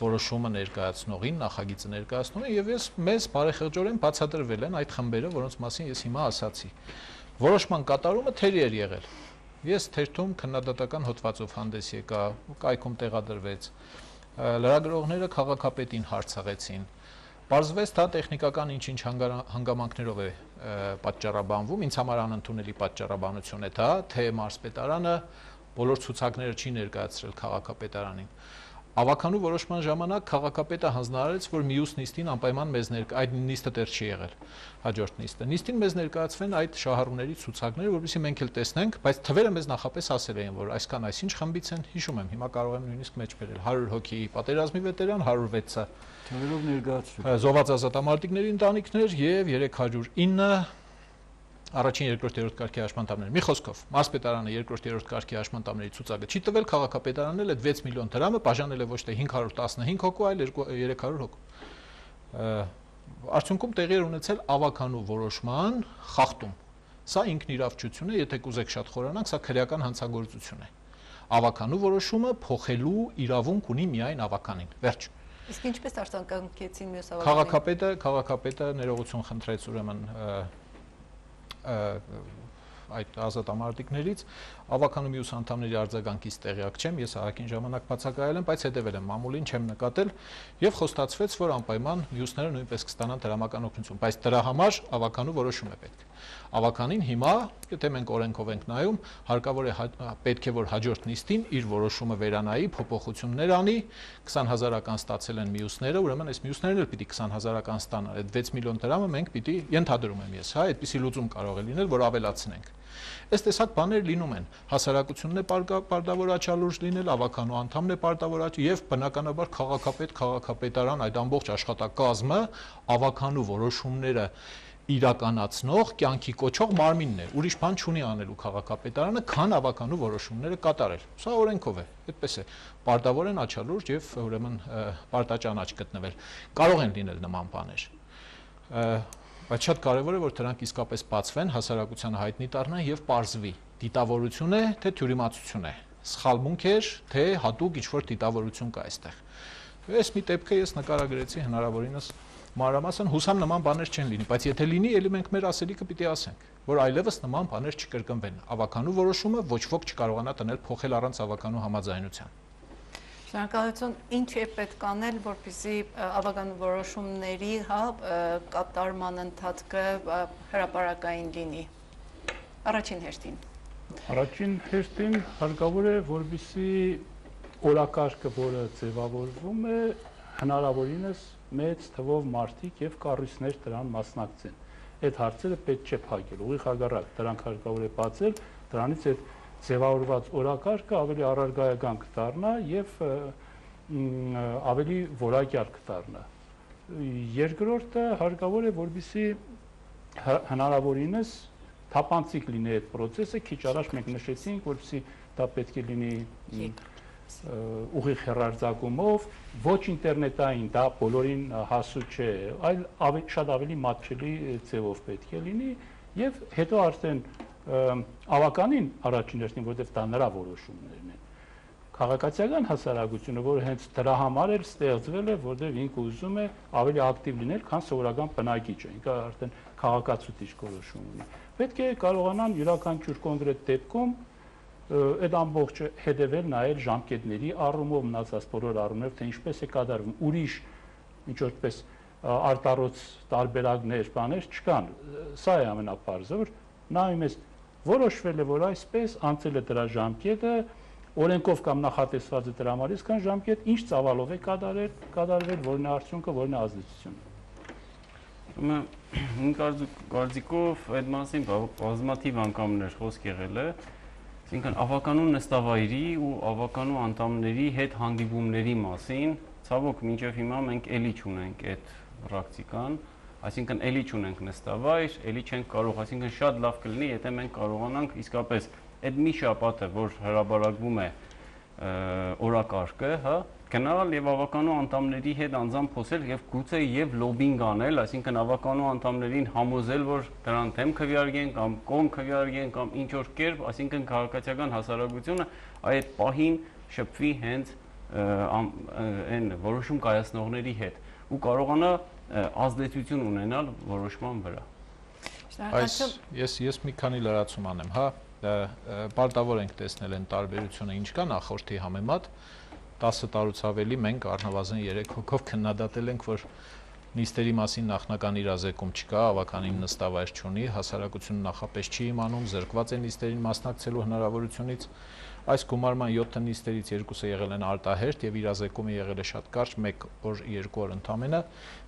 որոշումը ներկայացնողին, նախագիծը ներկայացնողին եւ մեզ բարեխեղճորեն բացատրվել են այդ խմբերը, որոնց մասին ես հիմա ասացի։ Որոշման կատարումը թերի էր եղել։ Ես թերթում քննադատական հոդվածով հանդես եկա, կայքում տեղադրվեց, լրագրողները քաղաքապետին հարցաղեցին, պարզվեց դա տեխնիկական ինչ-ինչ հանգամանքներով է պատճառաբանվում, ինձ համար անընդունելի պատճառաբանություն է դա, թե մարզպետարանը բոլոր ցուցակները չի ներկայացրել քաղաքապետարանին։ Ավականու որոշման ժամանակ քաղաքապետը հանձնարարեց, որ մյուս նիստին անպայման մեզ այդ նիստը դեռ չի եղել, հաջորդ նիստը։ Նիստին մեզ ներկայացվեն այդ շահառուների ցուցակները, որովհետեւ մենք էլ տեսնենք, բայց թվերը մեզ նախապես ասել էին, որ այսքան այսինչ խմբից են, հիշում եմ, հիմա կարող եմ նույնիսկ մեջ բերել 100 հոգի պատերազմի վետերան, 106-ը թվերով ներկայացրել։ Զոհված ազատամարտիկների ընտանիքներ եւ 309 առաջին, երկրորդ, երրորդ կարգի հաշմանդամներ։ Մի խոսքով, մարզպետարանը երկրորդ, երրորդ կարգի հաշմանդամների ցուցակը չի տվել, քաղաքապետարանն էլ այդ 6 միլիոն դրամը բաժանել է ոչ թե 515 հոգու, այլ 300 հոգու։ Արդյունքում տեղի էր ունեցել ավականու որոշման խախտում։ Սա ինքնիրավչություն է, եթե կուզեք շատ խորանանք, սա քրեական հանցագործություն է։ Ավականու որոշումը փոխելու իրավունք ունի միայն ավականին։ Վերջ։ Իսկ ինչպես արձագանքեցին մյուս ավականին։ Քաղաքապետը ներողություն խնդրեց ուրեմն այդ ազատամարտիկներից ավականու մյուս անդամների արձագանքից տեղյակ չեմ, ես ահագին ժամանակ բացակայել եմ, բայց հետևել եմ մամուլին, չեմ նկատել եւ խոստացվեց, որ անպայման մյուսները նույնպես կստանան դրամական օգնություն, բայց դրա համար ավականու որոշում է պետք։ Ավականին հիմա, եթե մենք օրենքով ենք նայում, հարկավոր է պետք է որ հաջորդ նիստին իր որոշումը վերանայի, փոփոխություններ անի, 20000-ական ստացել են մյուսները, ուրեմն այս մյուսներն էլ պիտի 20000-ական ստանան։ Այդ 6 միլիոն դրամը մենք պիտի ենթադրում եմ ես, հա, այդպիսի լուծում կարող է լինել, որ ավելացնենք։ Այս տեսակ բաներ լինում են։ Հասարակությունն է պարտավոր աչալուրջ լինել, ավականու անդամն է պարտավոր աչ եւ բնականաբար քաղաքապետարան այդ ամբողջ աշխատակազմը ավականու որոշումները իրականացնող, կյանքի կոչող մարմինն է։ Ուրիշ բան չունի անելու քաղաքապետարանը, քան ավականու որոշումները կատարել։ Սա օրենքով է, այդպես է։ Պարտավոր են աչալուրջ եւ ուրեմն պարտաճանաչ գտնվել։ Կարող են լինել նման բաներ։ Բայց շատ կարևոր է, որ դրանք իսկապես բացվեն, հասարակությանը հայտնի դառնան եւ պարզվի դիտավորություն է, թե թյուրիմացություն է, սխալմունք է, թե հատուկ ինչ-որ դիտավորություն կա այստեղ։ Այս մի դեպքը ես նկարագրեցի հնարավորինս մանրամասն, հուսամ նման բաներ չեն լինի, բայց եթե լինի, ելի մենք մեր ասելիքը պիտի ասենք, որ այլևս նման բաներ չկրկնվեն։ Ավականու որոշումը ոչ ոք չկարողանա տնել փոխել առանց ավականու համաձայնության։ Շնորհակալություն, ինչ է պետք անել, որպեսզի ավականու որոշումների կատարման ընթացքը հրապարակային լինի։ Առաջին հերթին։ Առաջին հերթին հարկավոր է, որպեսզի օրակարգը, որը ձևավորվում է, հնարավորինս մեծ թվով մարդիկ եւ կառույցներ դրան մասնակցեն։ Այդ հարցերը պետք չէ փակել, ուղիղ հակառակ, դրանք հարկավոր է բացել, դրանից այդ ձևավորված օրակարգը ավելի առարգայական կդառնա եւ ավելի որակյալ կդառնա։ Երկրորդը հարկավոր է, որպեսզի հնարավորինս թափանցիկ լինի այդ process-ը, քիչ առաջ մենք նշեցինք, որպեսզի դա պետք է լինի ուղիղ հեռարձակումով, ոչ ինտերնետային, դա բոլորին հասու չէ, այլ շատ ավելի մատչելի ձևով պետք է լինի եւ հետո արդեն ավականին առաջին հերթին, որովհետեւ դա նրա որոշումներն են։ Քաղաքացիական հասարակությունը, որը հենց դրա համար էլ ստեղծվել է, որովհետեւ ինքը ուզում է ավելի ակտիվ լինել, քան սովորական բնակիչը, ինքը արդեն քաղաքացիություն որոշում ունի։ Պետք է կարողանան յուրաքանչյուր կոնկրետ դեպքում այդ ամբողջը հետևել նայել ժամկետների առումով, մնացած բոլոր առումով, թե ինչպես է կատարվում, ուրիշ ինչ որպես արտառոց տարբերակներ, բաներ չկան։ Սա է ամենապարզը, որ նայում ես որոշվել է, որ այսպես անցել է դրա ժամկետը, օրենքով կամ նախատեսված է դրա համար, իսկ ժամկետ ինչ ծավալով է կատարվել, որն է արդյունքը, որն է ազդեցությունը։ Իմ կարծիքով այդ մասին բազմաթիվ անգամներ խոսք եղել է, այսինքն ավականու նստավայրի ու ավականու անդամների հետ հանդիպումների մասին, ցավոք մինչև հիմա մենք էլի չունենք այդ պրակտիկան, այսինքն էլի չունենք նստավայր, էլի չենք կարող, այսինքն շատ լավ կլինի, եթե մենք կարողանանք իսկապես այդ մի շաբաթը, որ հրապարակվում է օրակարգը, հա, գնալ եւ ավականու անդամների հետ անձամբ խոսել եւ գուցե եւ լոբինգ անել, այսինքն ավականու անդամներին համոզել, որ դրան դեմ քվեարկեն կամ կողմ քվեարկեն կամ ինչ որ կերպ, այսինքն քաղաքացիական հասարակությունը այդ պահին շփվի հենց այն որոշում կայացնողների հետ ու կարողանա ազդեցություն ունենալ որոշման վրա։ Ես մի քանի լրացում անեմ, հա, պարտավոր ենք տեսնել այն տարբերությունը, ինչ կա նախորդի համեմատ 10 տարուց ավելի մենք առնվազն 3 հոգով քննադատել ենք, որ նիստերի մասին նախնական իրազեկում չկա, ավականին նստավայր չունի, հասարակությունը նախապես չի իմանում, զրկված է նիստերին մասնակցելու հնարավորությունից։ Այս գումարման 7 նիստերից 2-ը եղել են արտահերթ եւ իրազեկումը եղել է շատ կարճ, 1 օր, 2 օր ընդամենը։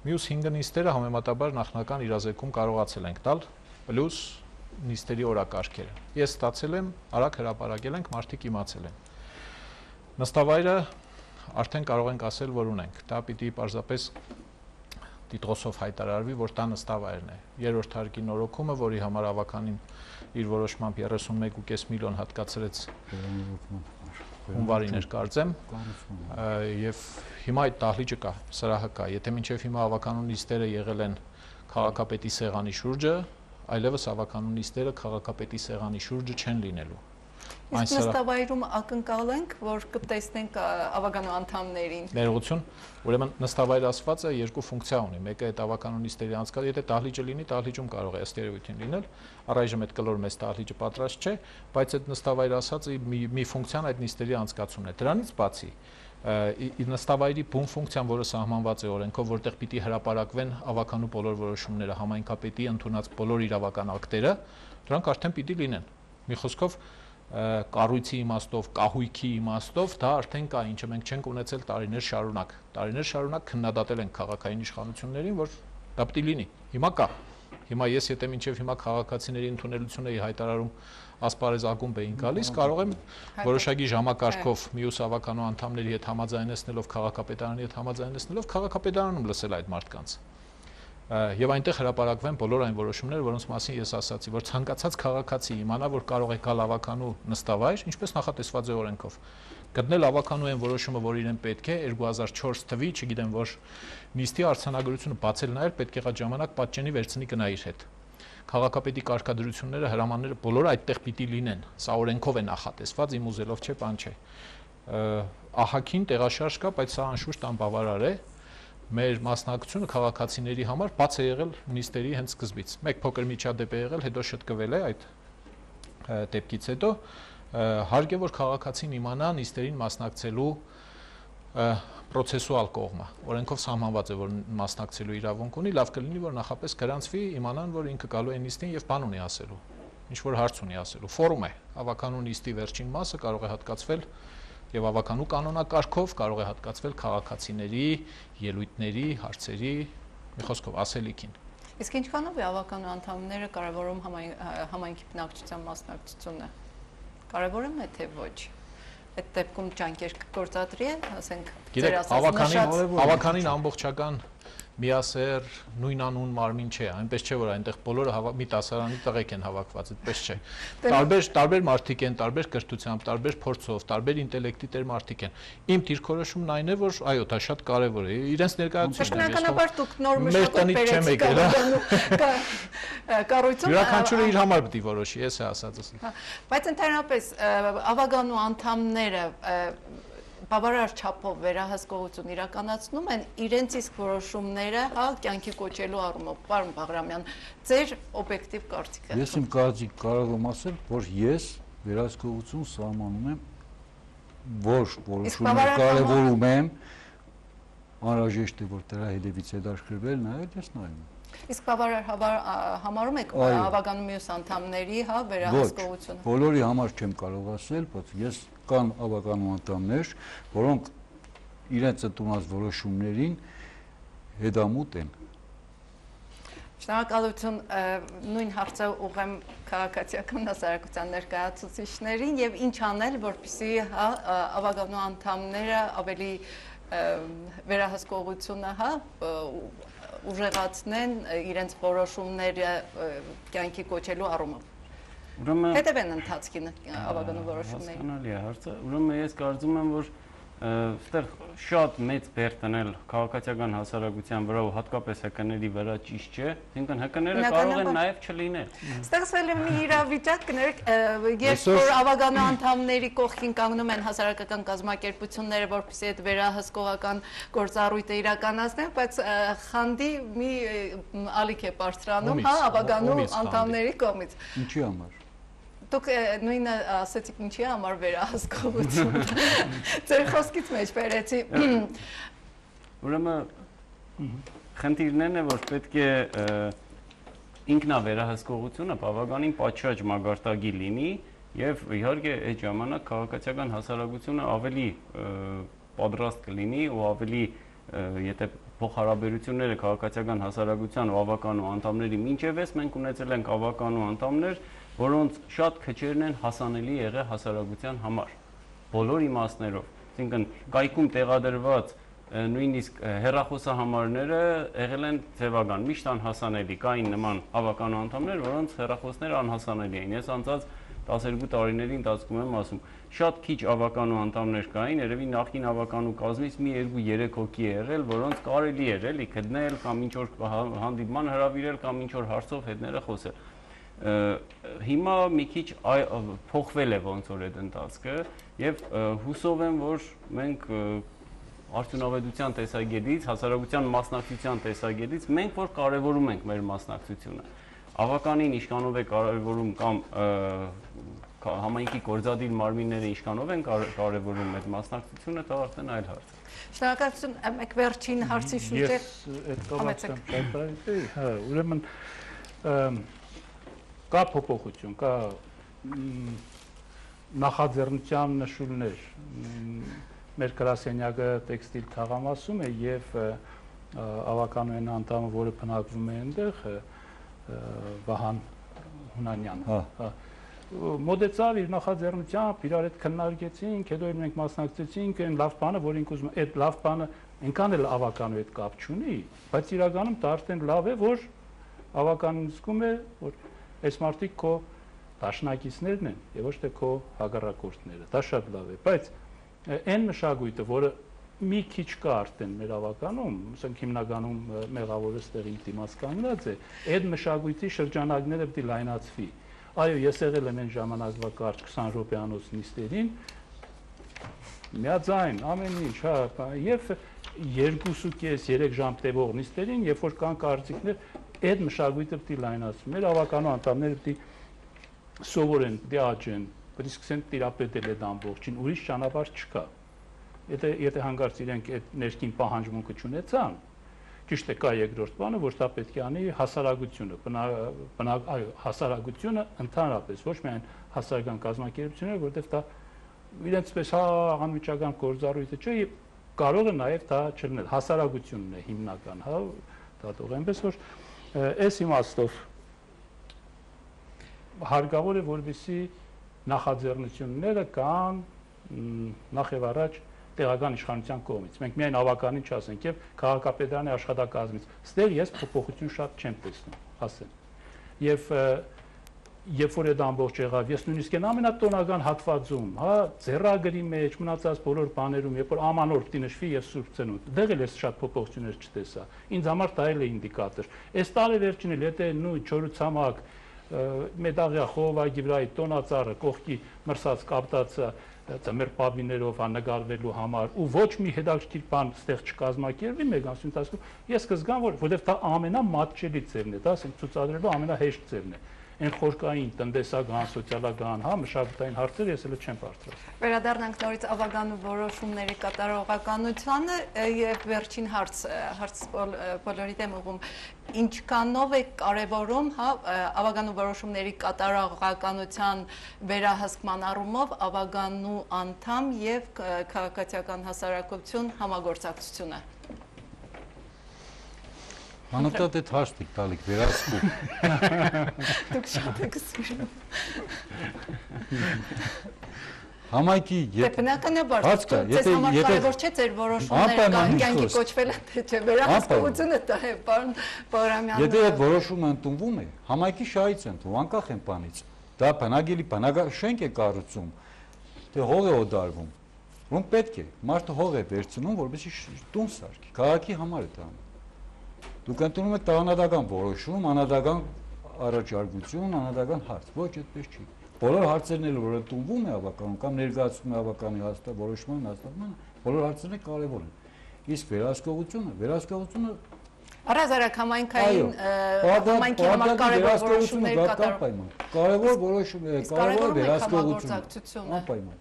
Մյուս 5 նիստերը համեմատաբար նախնական իրազեկում կարողացել ենք տալ, պլյուս նիստերի օրակարգերը։ Ես ստացել եմ, արագ հրապարակել ենք, մարդիկ իմացել են։ Նստավայրը արդեն կարող ենք ասել, որ ունենք։ Դա պիտի պարզապես տիտրոսով հայտարարվի, որ դա նստավայրն է։ Երրորդ հարկի նորոգումը, որի համար ավականին իր որոշմամբ 31.5 միլիոն հատկացրեց հունվարին էր կարծեմ, եւ հիմա այդ դահլիճը կա, սրահը կա։ Եթե մինչև հիմա ավականու նիստերը եղել են քաղաքապետի սեղանի շուրջը, այլևս ավականու նիստերը քաղաքապետի սեղանի շուրջը չեն լինելու։ Իսկ նստավայրում ակնկալ ենք, որ կտեսնենք ավականու անդամներին։ Ներողություն, ուրեմն նստավայր ասվածը երկու ֆունկցիա ունի։ Մեկը այդ ավականու նիստերի անցկացումը, եթե դահլիճը լինի, դահլիճում կարող է ըստ երևույթին լինել։ Առայժմ այդ կլոր մեծ դահլիճը պատրաստ չէ, բայց այդ նստավայր ասածը մի ֆունկցիան այդ նիստերի անցկացումն է։ Դրանից բացի նստավայրի բուն ֆունկցիան, որը սահմանված է օրենքով, որտեղ պիտի հրապարակվեն ավականու բոլոր որոշումները, համայնքապետի ընդունած բոլոր իրավական ակտերը, դրանք արդեն պիտի լինեն։ Մի խոսքով կառույցի իմաստով, կահույքի իմաստով դա արդեն կա, ինչը մենք չենք ունեցել տարիներ շարունակ։ Տարիներ շարունակ քննադատել ենք քաղաքային իշխանություններին, որ դա պիտի լինի։ Հիմա կա։ Հիմա ես եթե մինչև հիմա քաղաքացիների ընդունելությունը էի հայտարարում ասպարեզ ակումբ էին գալիս, կարող եմ որոշակի ժամակարգով մյուս ավականու անդամների հետ համաձայնեցնելով, քաղաքապետարանի հետ համաձայնեցնելով, քաղաքապետարանում լսել այդ մարդկանց։ Եվ այնտեղ հրապարակվեն բոլոր այն որոշումները, որոնց մասին ես ասացի, որ ցանկացած քաղաքացի իմանա, որ կարող է գալ ավականու նստավայր, ինչպես նախատեսված է օրենքով, գտնել ավականու այն որոշումը, որ իրեն պետք է 2004 թվի, չգիտեմ, որ նիստի արձանագրությունը բացել նայել, պետք եղած ժամանակ պատճենի վերցնի գնա իր հետ։ Քաղաքապետի կարգադրությունները, հրամանները բոլորը այդտեղ պիտի լինեն։ Սա օրենքով է նախատեսված, իմ ուզելով չէ, բան չէ։ Ահագին տեղաշարժ կա, բայց սա անշուշտ անբավարար է։ Մեր մասնակցությունը քաղաքացիների համար բաց է եղել նիստերի հենց սկզբից։ Մեկ փոքր միջադեպ է եղել, հետո շտկվել է այդ դեպքից հետո հարկ է որ քաղաքացին իմանա նիստերին մասնակցելու պրոցեսուալ կողմը։ Օրենքով սահմանված է, որ մասնակցելու իրավունք ունի, լավ կլինի, որ նախապես գրանցվի, իմանան, որ ինքը գալու է նիստին եւ բան ունի ասելու։ ինչ որ հարց ունի ասելու։ Ֆորում է, ավականու նիստի վերջին մասը կարող է հատկացվել եւ ավականու կանոնակարգով կարող է հատկացվել քաղաքացիների, ելույթների, հարցերի, մի խոսքով ասելիքին։ Իսկ ինչքանով է ավականու անդամները կարևորում համայնքի բնակչության մասնակցությունը։ Կարևորում է թե ոչ։ Այդ դեպքում ջանքեր կգործադրի է, ասենք, գիտեք, ավականին ամբողջական միասեր նույնանուն մարմին չէ, այնպես չէ որ այնտեղ բոլորը մի տասարանի տղեկ են հավաքված, այդպես չէ։ Տարբեր մարդիկ են, տարբեր կրթությամբ, տարբեր փորձով, տարբեր ինտելեկտի տեր մարդիկ են։ Իմ դիրքորոշումն այն է, որ այո, դա շատ կարևոր է։ Իրենց ներկայացուցիչն է։ Բնականաբար դուք նոր մշակույթ կառույցում յուրաքանչյուրը իր համար պետք է որոշի, ես է ասածս։ Բայց ընդհանրապես ավականու անդամները բավարար չափով վերահսկողություն իրականացնում են իրենց իսկ որոշումները, հա, կյանքի կոչելու առումով, պարոն Բաղրամյան, ձեր օբյեկտիվ կարծիքը։ Ես իմ կարծիք կարող եմ ասել, որ ես վերահսկողություն սահմանում եմ, որ որոշումներ կարևորում եմ, անհրաժեշտ է որ դրա հետևից հետաքրքրվել նայել, ես նայում եմ։ Իսկ բավարար համարում եք ավականու մյուս անդամների, հա, վերահսկողությունը։ Ոչ, բոլորի համար չեմ կարող ասել, բայց ես կան ավականու անդամներ, որոնք իրենց ընդունած որոշումներին հետամուտ են։ Շնորհակալություն, նույն հարցը ուղղեմ քաղաքացիական հասարակության ներկայացուցիչներին եւ ինչ անել, որպեսզի հա ավականու անդամները ավելի վերահսկողությունը, հա, ուժեղացնեն իրենց որոշումները կյանքի կոչելու առումով։ Ուրեմն հետևեն ընթացքին ավականու որոշումների։ Հասկանալի է հարցը։ Ուրեմն ես կարծում եմ, որ այստեղ շատ մեծ բեր տնել քաղաքացիական հասարակության վրա ու հատկապես ՀԿ-ների վրա ճիշտ չէ, այսինքն ՀԿ-ները կարող են նաև չլինել։ Ստեղծվել է մի իրավիճակ, երբ որ ավականու անդամների կողքին կանգնում են հասարակական կազմակերպությունները, որպեսզի այդ վերահսկողական գործառույթը իրականացնեն, բայց խանդի մի ալիք է բարձրանում, հա, ավականու անդամների կողմից։ Ինչի համար։ Դուք նույնը ասեցիք ինչի համար վերահսկողություն։ Ձեր խոսքից մեջ բերեցի։ Ուրեմն խնդիրներն է, որ պետք է ինքնավերահսկողությունը բավականին պատշաճ մագարտակի լինի եւ իհարկե այդ ժամանակ քաղաքացիական հասարակությունը ավելի պատրաստ կլինի ու ավելի եթե փոխհարաբերությունները քաղաքացիական հասարակության ու ավականու անդամների մինչեւս մենք ունեցել ենք ավականու անդամներ, որոնց շատ քչերն են հասանելի եղել հասարակության համար բոլոր իմաստներով, այսինքն կայքում տեղադրված նույնիսկ հեռախոսահամարները եղել են ձևական, միշտ անհասանելի, կային նման ավականու անդամներ, որոնց հեռախոսները անհասանելի էին։ Ես անցած 12 տարիների ընթացքում եմ ասում, շատ քիչ ավականու անդամներ կային, երևի նախին ավականու կազմից մի 2-3 հոգի է եղել, որոնց կարելի էր էլի գտնել կամ ինչ որ հանդիպման հրավիրել կամ ինչ որ հարցով հետները խոսել։ Հիմա մի քիչ փոխվել է ոնց որ այդ ընթացքը եւ հուսով եմ, որ մենք արդյունավետության տեսակետից, հասարակության մասնակցության տեսակետից մենք որ կարևորում ենք մեր մասնակցությունը։ Ավականին ինչքանով է կարևորում կամ համայնքի գործադիր մարմինները ինչքանով են կարևորում այդ մասնակցությունը, դա արդեն այլ հարց է։ Շնորհակալություն, մեկ վերջին հարցի շուրջ է։ Ես այդ կողմից հա, ուրեմն կա փոփոխություն, կա նախաձեռնության նշույլներ։ Մեր գրասենյակը տեքստիլ թաղամասում է եւ ավականու են անդամը, որը բնակվում է այնտեղ, Վահան Հունանյան։ Հա։ Մոդեցավ իր նախաձեռնությամբ, իրար հետ քննարկեցինք, հետո մենք մասնակցեցինք այն լավ բանը, որ ինք ուզում, այդ լավ բանը այնքան էլ ավականու հետ կապ չունի, բայց իրականում դա արդեն լավ է, որ ավականին զգում է, որ այս մարդիկ քո դաշնակիցներն են եւ ոչ թե քո հակառակորդները։ Դա շատ լավ է, բայց այն մշակույթը, որը մի քիչ կա արդեն մեր ավականում, ասենք հիմնականում մեղավորը ստեղին դիմաց կանգնած է, այդ մշակույթի շրջանակները պետք է լայնացվի։ Այո, ես եղել եմ այն ժամանակվա կարճ 20 րոպեանոց նիստերին, միաձայն ամեն ինչ, հա, եւ 2.5-3 ժամ տևող նիստերին, երբ որ կան կարծիքներ, այդ մշակույթը պետք է լայնացվի։ Մեր ավականու անդամները պետք է սովորեն, պետք է աճեն, պետք է սկսեն տիրապետել այդ ամբողջին, ուրիշ ճանապարհ չկա։ Եթե հանկարծ իրենք այդ ներքին պահանջմունքը չունեցան, ճիշտ է, կա երկրորդ բանը, որ դա պետք է անի հասարակությունը, հասարակությունը ընդհանրապես, ոչ միայն հասարակական կազմակերպությունները, որտեղ դա իրենց պես անմիջական գործառույթը չէ, կարող է նաև դա չլինել, հասարակությունն է հիմնական, հա, դատող, այնպես որ այս իմաստով հարկավոր է, որպեսզի նախաձեռնությունները կան նախ եւ առաջ տեղական իշխանության կողմից։ Մենք միայն ավականին չասենք եւ քաղաքապետարանի աշխատակազմից։ Ստեղ ես փոփոխություն շատ չեմ տեսնում, ասեմ։ Եվ երբ որ այդ ամբողջ եղավ, ես նույնիսկ այն ամենատոնական հատվածում, հա, ձեռագրի մեջ մնացած բոլոր բաներում, երբ որ ամանորդ նշվի եւ Սուրբ Ծնունդ, դեղ էլ ես շատ փոփոխություններ չտեսա։ Ինձ համար դա էլ է ինդիկատոր։ Այս տարի վերջին էլ եթե նույն չորուցամակ մետաղյա խողովակի վրայի տոնածառը կողքի մրսած կապտածը ծմեր պաբիներով նկարվելու համար ու ոչ մի հետաքրքիր բան ստեղ չկազմակերպվի մեկ ամսի ընթացքում ես կզգամ որովհետև դա ամենամատչելի ձևն է, դա ասենք ցուցադրելու ամենահեշտ ձևն է։ Այն խորքային, տնտեսական, սոցիալական, հա, մշակութային հարցեր ես էլ չեմ բարձրացնում։ Վերադառնանք նորից ավագանու որոշումների կատարողականությանը եւ վերջին հարց բոլորի դեմ ուղում ինչքանով է կարևորում, հա, ավագանու որոշումների կատարողականության վերահսկման առումով ավագանու անդամ եւ քաղաքացիական հասարակություն համագործակցությունը։ Անընդհատ այդ հաշտիկ տալիք վերահսկում։ Դուք շատ եք սիրում։ Համայնքի բնականաբար ձեզ համար կարևոր չէ ձեր որոշումները կյանքի կոչվելը թե չէ վերահսկողությունը դա է, պարոն Բաղրամյան։ Եթե այդ որոշումը ընդունվում է, համայնքի շահից է ընդունվում, անկախ են բանից։ Դա բնակելի շենք է կառուցում, թե հող է օդարվում։ Ոնց պետք է, մարդը հող է վերցնում, որպեսզի տուն սարքի։ Քաղաքի համար է դա անում։ Դուք ընդունում եք տաղանդական որոշում, անհատական առաջարկություն, անհատական հարց, ոչ այդպես չի։ Բոլոր հարցերն էլ որ ընդունվում է ավականում կամ ներկայացվում է ավականի որոշման հաստատմանը, բոլոր հարցերն կարևոր են։ Իսկ վերահսկողությունը առհասարակ համայնքային համար կարևոր որոշումների կատարում։ Կարևոր որոշում է, կարևոր վերահսկողությունը։ Անպայման։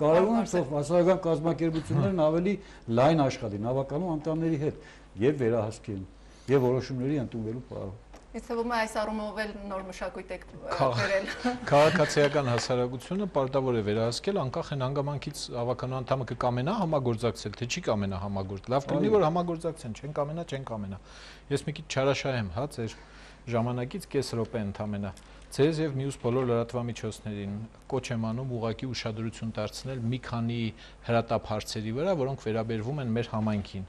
Կարևոր է որ հասարակական կազմակերպություններն ավելի լայն աշխատեն ավականու անդամների հետ եւ վերահսկեն եւ որոշումների ընդունվելու պարով։ Ինձ թվում է այս առումով էլ նոր մշակույթ եք բերել։ Քաղաքացիական հասարակությունը պարտավոր է վերահսկել անկախ այն հանգամանքից ավականու անդամը կկամենա համագործակցել, թե չի կամենա համագործակցել։ Լավ կլինի որ համագործակցեն, չեն կամենա։ Ես մի քիչ չարաշահեմ, հա, ձեր ժամանակից կես րոպե ընդամենա։ Ձեզ եւ մյուս բոլոր լրատվամիջոցներին կոչ եմ անում ուղղակի ուշադրություն դարձնել մի քանի հրատապ հարցերի վրա, որոնք վերաբերվում են մեր համայնքին։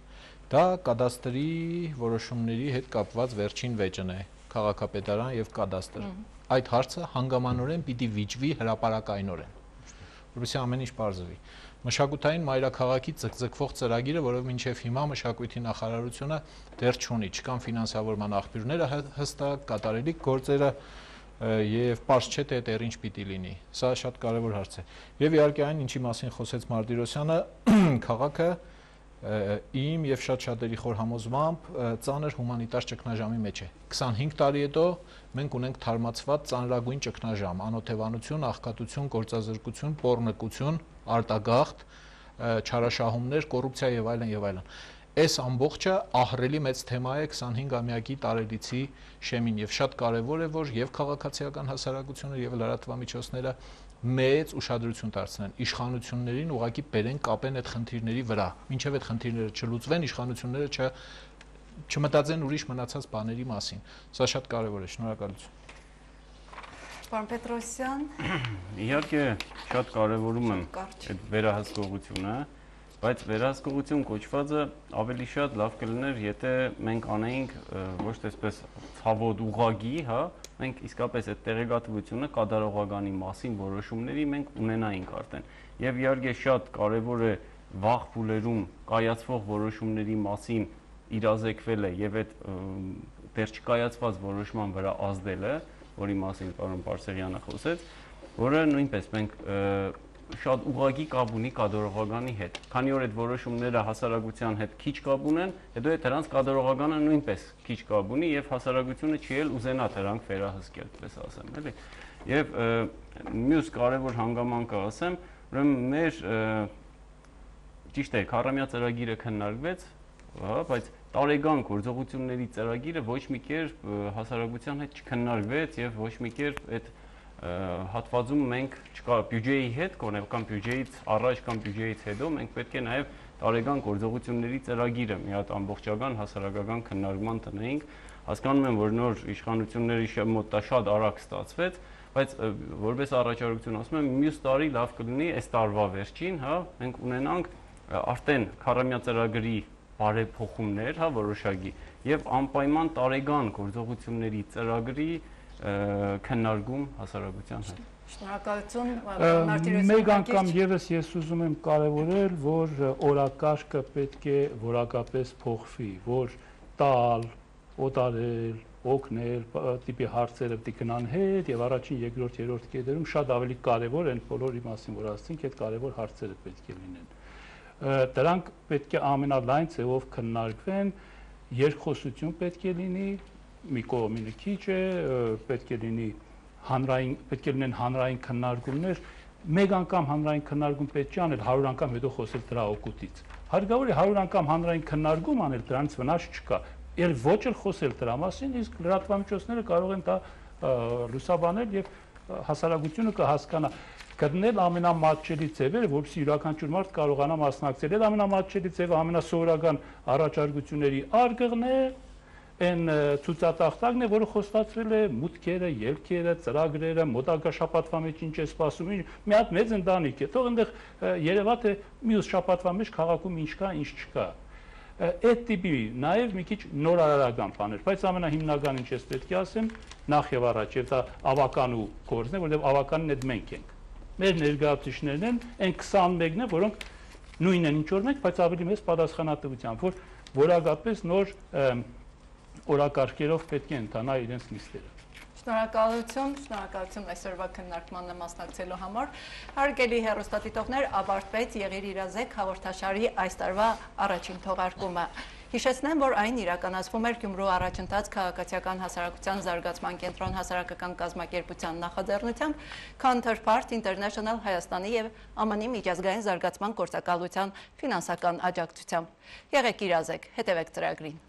Դա կադաստրի որոշումների հետ կապված վերջին վեճն է, քաղաքապետարան եւ կադաստր։ Այդ հարցը հանգամանորեն պիտի վիճվի հրապարակայնորեն, որովհետեւ ամեն ինչ բարձվի։ Մշակութային մայրաքաղաքի ձգձգվող ծրագիրը, որով մինչև հիմա մշակույթի նախարարությունը դեռ չունի, չկան ֆինանսավորման աղբյուրները հստակ, կատարելիք գործերը եւ պարզ չէ թե դա ինչ պիտի լինի։ Սա շատ կարեւոր հարց է։ Եվ իհարկե այն, ինչի մասին խոսեց Մարտիրոսյանը, քաղաքը իմ եւ շատ-շատերի խոր համոզմամբ ծանր հումանիտար ճգնաժամի մեջ է։ 25 տարի հետո մենք ունենք թարմացված ծանրագույն ճգնաժամ, անօթևանություն, աղքատություն, գործազրկություն, պոռնկություն, արտագաղթ, չարաշահումներ, կոռուպցիա եւ այլն եւ այլն։ Այս ամբողջը ահռելի մեծ թեմա է 25-ամյակի տարելիցի շեմին եւ շատ կարեւոր է որ եւ քաղաքացիական հասարակությունը եւ լրատվամիջոցները մեծ ուշադրություն դարձնեն իշխանություններին ուղղակի բերեն կապեն այդ խնդիրների վրա մինչև այդ խնդիրները չլուծվեն իշխանությունները չմտածեն ուրիշ մնացած բաների մասին սա շատ կարևոր է շնորհակալություն Պարոն Պետրոսյան իհարկե շատ կարևորում եմ այդ վերահսկողությունը բայց վերահսկողություն կոչվածը ավելի շատ լավ կլիներ եթե մենք անեինք ոչ թե այսպես ցավոտ ուղագի, հա, մենք իսկապես այդ տեղեկատվությունը կատարողականի մասին որոշումների մենք ունենայինք արդեն։ Եվ իհարկե շատ կարևոր է վաղ փուլերում կայացվող որոշումների մասին իրազեկվելը եւ այդ դեռ չկայացված որոշման վրա ազդելը, որի մասին պարոն Պարսեղյանը խոսեց, որը նույնպես մենք շատ ուղղակի կապ ունի կատարողականի հետ։ Քանի որ այդ որոշումները հասարակության հետ քիչ կապ ունեն, հետո այդ դրանց կատարողականը նույնպես քիչ կապ ունի եւ հասարակությունը չի էլ ուզենա դրանք վերահսկել, պես ասեմ, էլի։ Եվ մյուս կարևոր հանգամանքը ասեմ, ուրեմն մեր ճիշտ է, քառամյա ծրագիրը քննարկվեց, հա, բայց տարեկան գործողությունների ծրագիրը ոչ մի կերպ հասարակության հետ չքննարկվեց եւ ոչ մի կերպ այդ հատվածում մենք չկա բյուջեի հետ կողմել կամ բյուջեից առաջ կամ բյուջեից հետո մենք պետք է նաեւ տարեկան գործողությունների ծրագիրը մի հատ ամբողջական հասարակական քննարկման տնեինք հասկանում եմ որ նոր իշխանությունների մոտ դա շատ արագ ստացվեց բայց որպես առաջարկություն ասում եմ մյուս տարի լավ կլինի այս տարվա վերջին հա մենք ունենանք արդեն քառամյա ծրագրի բարեփոխումներ հա որոշակի եւ անպայման տարեկան գործողությունների ծրագրի քննարկում հասարակության հետ Շնորհակալություն մեկ անգամ եւս ես ուզում եմ կարևորել որ օրակարգը պետք է որակապես փոխվի որ տալ օտարել օգնել տիպի հարցերը պետք է գնան հետ եւ առաջին, երկրորդ, երրորդ կետերում շատ ավելի կարեւոր են բոլորի մասին որ ասցինք այդ կարեւոր հարցերը պետք է լինեն դրանք պետք է ամենալայն ձևով քննարկվեն երկխոսություն պետք է լինի մի կողմինը քիչ է պետք է լինի հանրային պետք է լինեն հանրային քննարկումներ մեկ անգամ հանրային քննարկում պետք է անել 100 անգամ հետո խոսել դրա օգուտից հարկավոր է 100 անգամ հանրային քննարկում անել դրանից վնաս չկա Էլ ոչ էլ խոսել դրա մասին, իսկ լրատվամիջոցները կարող են դա լուսաբանել եւ հասարակությունը կհասկանա գտնել ամենամատչելի ձևերը, որովհետեւ յուրաքանչյուր մարդ կարողանա մասնակցել։ Այդ ամենամատչելի ձևը ամենասովորական առաջարկությունների արգղն է, այն ցուցատախտակն է, որը խոստացվել է մուտքերը, ելքերը, ծրագրերը, մոտակա շաբաթվա մեջ ինչ է սպասում, մի հատ մեծ ընտանիք է։ Թող այնտեղ երևա թե մյուս շաբաթվա մեջ քաղաքում ինչ կա, ինչ չկա։ Այդ տիպի նաև մի քիչ նորարարական բաներ, բայց ամենահիմնական ինչ ես պետք է ասեմ, նախ եւ առաջ եւ դա ավականու գործն է, որովհետեւ ավականն այդ մենք ենք։ Մեր ներկայացուցիչներն են, այն 21-ն է, որոնք նույնն են ինչ որ մենք, բայց ավելի մեծ պատասխանատվությամբ, որ որակապես նոր օրակարգերով պետք է ընթանա իրենց նիստերը։ Շնորհակալություն այսօրվա քննարկմանը մասնակցելու համար։ Հարգելի հեռուստադիտողներ, ավարտվեց Եղիր իրազեկ հաղորդաշարի այս տարվա առաջին թողարկումը։ Հիշեցնեմ, որ այն իրականացվում էր Գյումրու առաջընթաց քաղաքացիական հասարակության զարգացման կենտրոն հասարակական կազմակերպության նախաձեռնությամբ, Counterpart International Հայաստանի եւ ԱՄՆ-ի միջազգային զարգացման գործակալության ֆինանսական աջակցությամբ։ Եղեք իրազեկ, հետևեք ծրագրին։